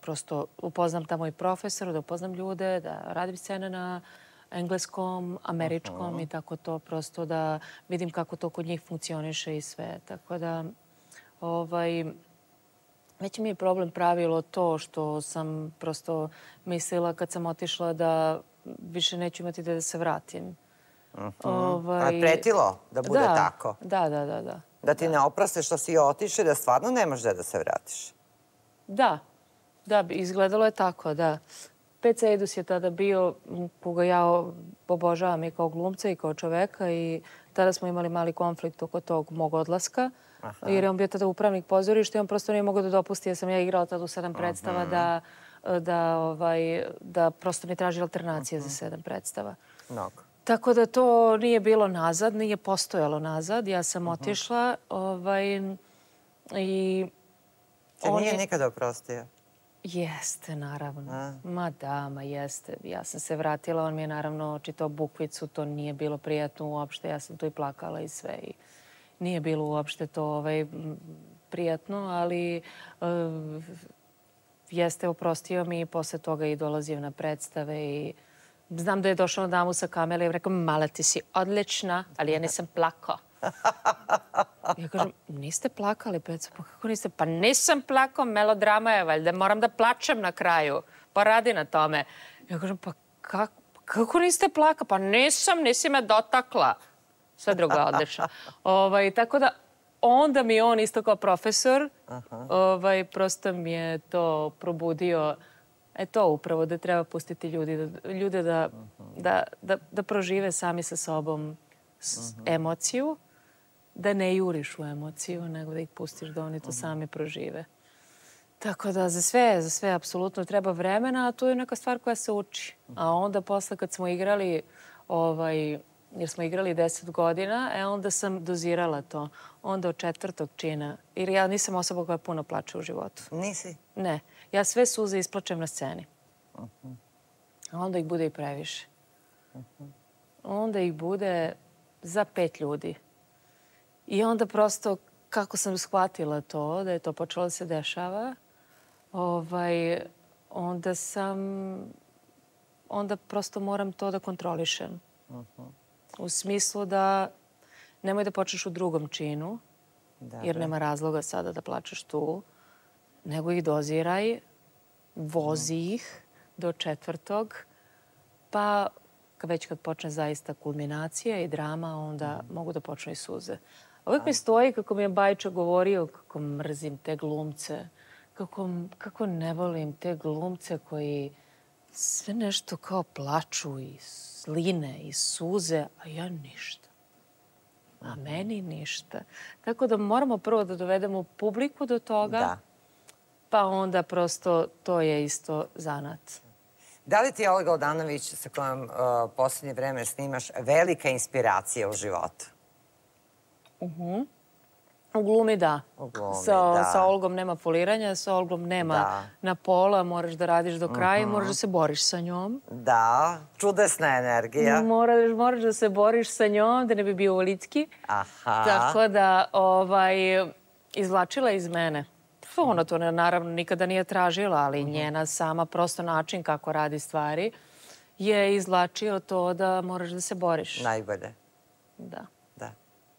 S3: prosto upoznam tamo i profesora, da upoznam ljude, da radim scene na engleskom, američkom i tako to, prosto da vidim kako to kod njih funkcioniše i sve. Tako da, već mi je problem pravilo to što sam prosto mislila kad sam otišla da više neću imati da se vratim.
S2: A je pretilo da bude tako?
S3: Da.
S2: Da ti ne oproste što si otišla i da stvarno nemaš da se vratiš?
S3: Da, izgledalo je tako, da. PC Eidus je tada bio, koga ja obožavam i kao glumca i kao čoveka i tada smo imali mali konflikt oko tog mog odlaska. Jer je on bio tada upravnik pozorišta i on prosto nije mogao da dopusti, jer sam ja igrala tada u 7 predstava, da prosto mi traži alternacije za 7 predstava.
S2: Mnogo.
S3: Tako da to nije bilo nazad, nije postojalo nazad. Ja sam otišla i...
S2: Te nije nikada oprostio?
S3: Jeste, naravno. Ma jeste. Ja sam se vratila, on mi je naravno čitao bukvicu, to nije bilo prijatno uopšte. Ja sam tu i plakala i sve. Nije bilo uopšte to prijatno, ali jeste oprostio mi i posle toga i dolazio na predstave i znam da je došao na damu sa kamere i rekao, mala ti si odlična, ali ja nisam plakao. Ja kažem, niste plakali, Peco? Pa kako niste? Pa nisam plakao, melodrama je valjda, moram da plačem na kraju. Pa radi na tome. Ja kažem, pa kako niste plakao? Pa nisam, nisi me dotakla. Sve drugo je odlično. Tako da, onda mi on isto kao profesor, prosto mi je to probudio, to upravo, da treba pustiti ljude da prožive sami sa sobom emociju, da ne juriš u emociju, nego da ih pustiš da oni to sami prožive. Tako da za sve apsolutno treba vremena, a to je neka stvar koja se uči. A onda posle kad smo igrali, jer smo igrali 10 godina, onda sam dozirala to. Onda od 4. čina, jer ja nisam osoba koja puno plače u životu.
S2: Nisi?
S3: Ne. Ja sve suze isplačem na sceni. A onda ih bude i previše. Onda ih bude za 5 ljudi. I onda prosto, kako sam shvatila to, da je to počelo da se dešava, onda prosto moram to da kontrolišem. U smislu da nemoj da počneš u 2. činu, jer nema razloga sada da plačeš tu, nego ih doziraj, vozi ih do 4. pa već kad počne zaista kulminacija i drama, onda mogu da počnu i suze. Uvijek mi stoji kako mi je Bajča govorio kako mrzim te glumce, kako ne volim te glumce koji sve nešto kao plaču i sline i suze, a ja ništa. A meni ništa. Tako da moramo prvo da dovedemo publiku do toga, pa onda prosto to je isto zanat.
S2: Da li ti je Olga Odanović, sa kojom poslednje vreme snimaš, velika inspiracija u životu?
S3: U glumi da. Sa Olgom nema foliranja, sa Olgom nema na pola, moraš da radiš do kraja i moraš da se boriš sa njom.
S2: Da, čudesna energija.
S3: Moraš da se boriš sa njom, da ne bi bio ulicki. Tako da izvlačila iz mene. Ona to naravno nikada nije tražila, ali njena sama prosto način kako radi stvari je izvlačio to da moraš da se boriš.
S2: Najbolje.
S3: Da.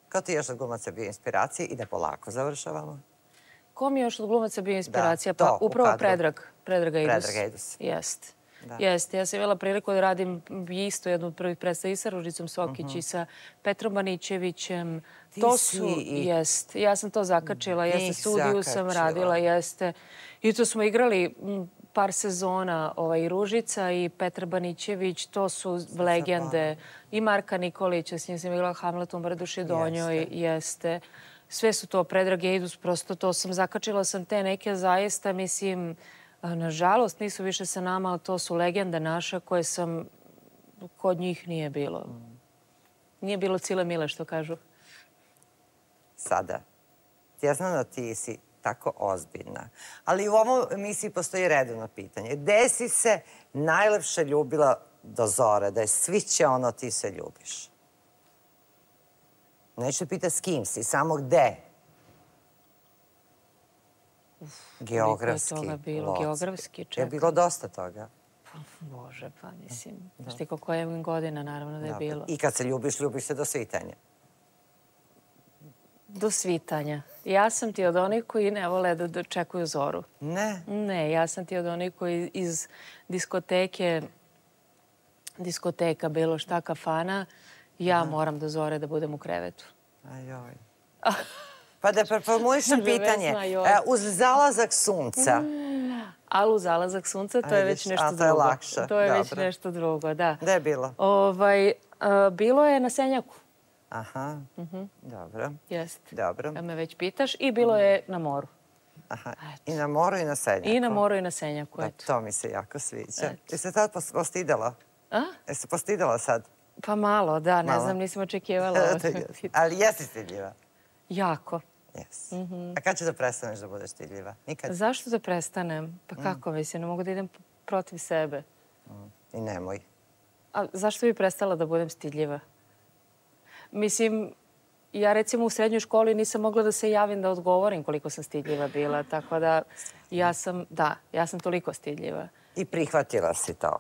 S2: Kao ti još od glumaca bio inspiracija i da polako završavamo?
S3: Ko mi je još od glumaca bio inspiracija? Pa upravo Predrag Eidus. Jeste. Ja sam imala priliku da radim isto jednu od prvih predstava i sa Ružicom Sokić i sa Petrom Banićevićem. Jeste. Ja sam to zakačila. Jeste, studiju sam radila. Jeste. I to smo igrali par sezona i Ružica i Petar Banićević. To su legende. I Marka Nikolića, s njim sam igrala Hamlet u Mrduši Donjoj. Jeste. Sve su to Predrag Eidus. Prosto to sam zakačila sam te neke zaista, mislim, nažalost nisu više sa nama, ali to su legende naše koje sam, kod njih nije bilo. Nije bilo cile mile, što kažu.
S2: Sada, ja znam da ti si tako ozbiljna, ali u ovom emisiji postoji redovno pitanje. Gde si se najlepše ljubila do zore, da je sviće ono ti se ljubiš. Neću pita s kim si, samo gde. Geografski.
S3: Koliko je toga bilo? Geografski, čekaj.
S2: Je bilo dosta toga.
S3: Bože, pa mislim. Znaš ti koliko je godina, naravno da je bilo.
S2: I kad se ljubiš, ljubiš se do svitanja.
S3: Do svitanja. Ja sam ti od onih koji ne vole da dočekuju zoru.
S2: Ne?
S3: Ne, ja sam ti od onih koji iz diskoteka, bilo šta, kafana, ja moram do zore da budem u krevetu.
S2: Ajoj. Pa da preformulišem pitanje. Uz zalazak sunca.
S3: Ali uz zalazak sunca to je već nešto drugo.
S2: A to je lakše.
S3: To je već nešto drugo, da.
S2: Gde je bilo?
S3: Bilo je na Senjaku.
S2: Aha, dobro.
S3: Jeste.
S2: Dobro.
S3: Kad me već pitaš. I bilo je na moru.
S2: Aha, i na moru i na Senjaku.
S3: I na moru i na Senjaku, eto.
S2: To mi se jako sviđa. Jesi se tad postidela?
S3: A?
S2: Jesi se postidela sad?
S3: Pa malo, da. Ne znam, nisam očekivala.
S2: Ali jesi stidljiva?
S3: Jako.
S2: Jesi. A kad ćeš da prestaneš da budeš stidljiva? Nikad?
S3: Zašto da prestanem? Pa kako mislim, ne mogu da idem protiv sebe.
S2: I nemoj.
S3: A zašto bi prestala da budem stidljiva? Mislim, ja recimo u srednjoj školi nisam mogla da se javim da odgovorim koliko sam stidljiva bila, tako da ja sam toliko stidljiva.
S2: I prihvatila si to?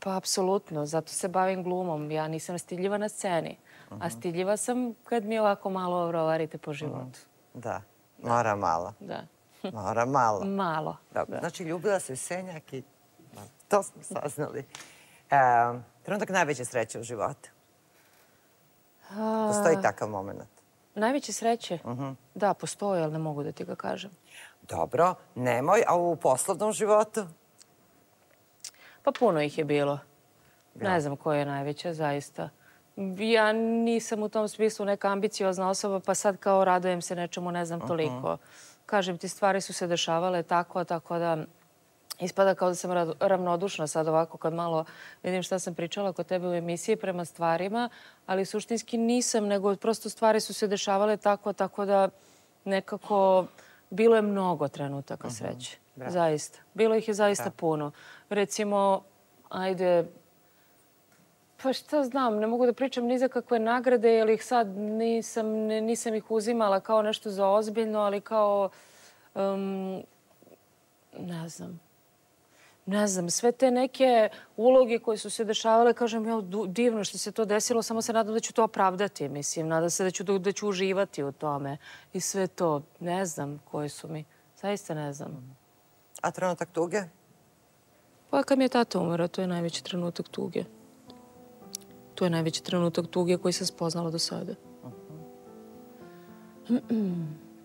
S3: Pa apsolutno, zato se bavim glumom. Ja nisam stidljiva na sceni, a stidljiva sam kad mi ovako malo rovarite po životu.
S2: Da, mora malo.
S3: Da.
S2: Mora malo.
S3: Malo.
S2: Znači, ljubila se Senjak i to smo saznali. Trenutak najveće sreće u životu? Postoji takav moment?
S3: Najveće sreće? Da, postoji, ali ne mogu da ti ga kažem.
S2: Dobro, nemoj. A u poslovnom životu?
S3: Pa puno ih je bilo. Ne znam koja je najveća, zaista. Ja nisam u tom smislu neka ambiciozna osoba, pa sad kao radujem se nečemu, ne znam toliko. Kažem ti, stvari su se dešavale tako da ispada kao da sam ravnodušna sad ovako kad malo vidim šta sam pričala kod tebe u emisiji prema stvarima, ali suštinski nisam, nego prosto stvari su se dešavale tako da nekako bilo je mnogo trenutaka sreće. Zaista. Bilo ih je zaista puno. Recimo, ajde, pa šta znam, ne mogu da pričam ni za kakve nagrade, jer ih sad nisam ih uzimala kao nešto za ozbiljno, ali kao, ne znam, sve te neke uloge koje su se dešavale, kažem, divno što se to desilo, samo se nadam da ću to opravdati, mislim, nadam se da ću uživati u tome i sve to, ne znam koje su mi, zaista ne znam.
S2: A trenutak tuge?
S3: Pa kad mi je tata umro, to je najveći trenutak tuge. To je najveći trenutak tuge koji sam spoznala do sada.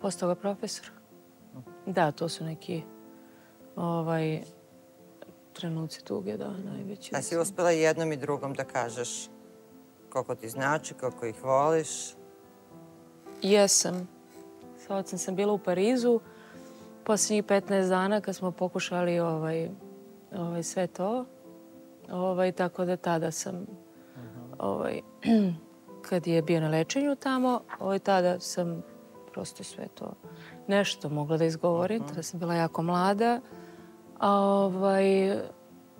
S3: Posle toga profesor. Da, to su neki trenuci tuge, da, najveći.
S2: A si uspela jednom i drugom da kažeš koliko ti znači, koliko ih voliš?
S3: Jesam. Sa ocem sam bila u Parizu posljednjih 15 dana kad smo pokušali sve to. Tako da tada sam, kad je bio na lečenju tamo, tada sam prosto sve to nešto mogla da izgovorim. Tada sam bila jako mlada.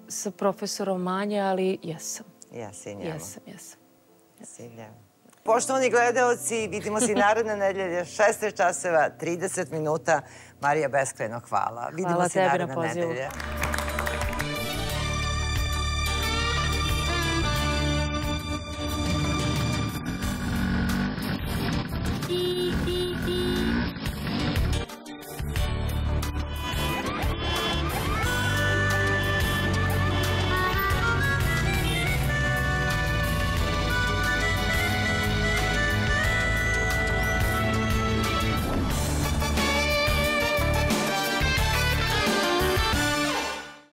S3: Sa profesorom manje, ali jesam.
S2: Jesi njema.
S3: Jesam.
S2: Poštovani gledaoci, vidimo se i naredne nedelje, 16 časova, 30 minuta. Marija, beskrajno hvala. Vidimo se i naredne nedelje.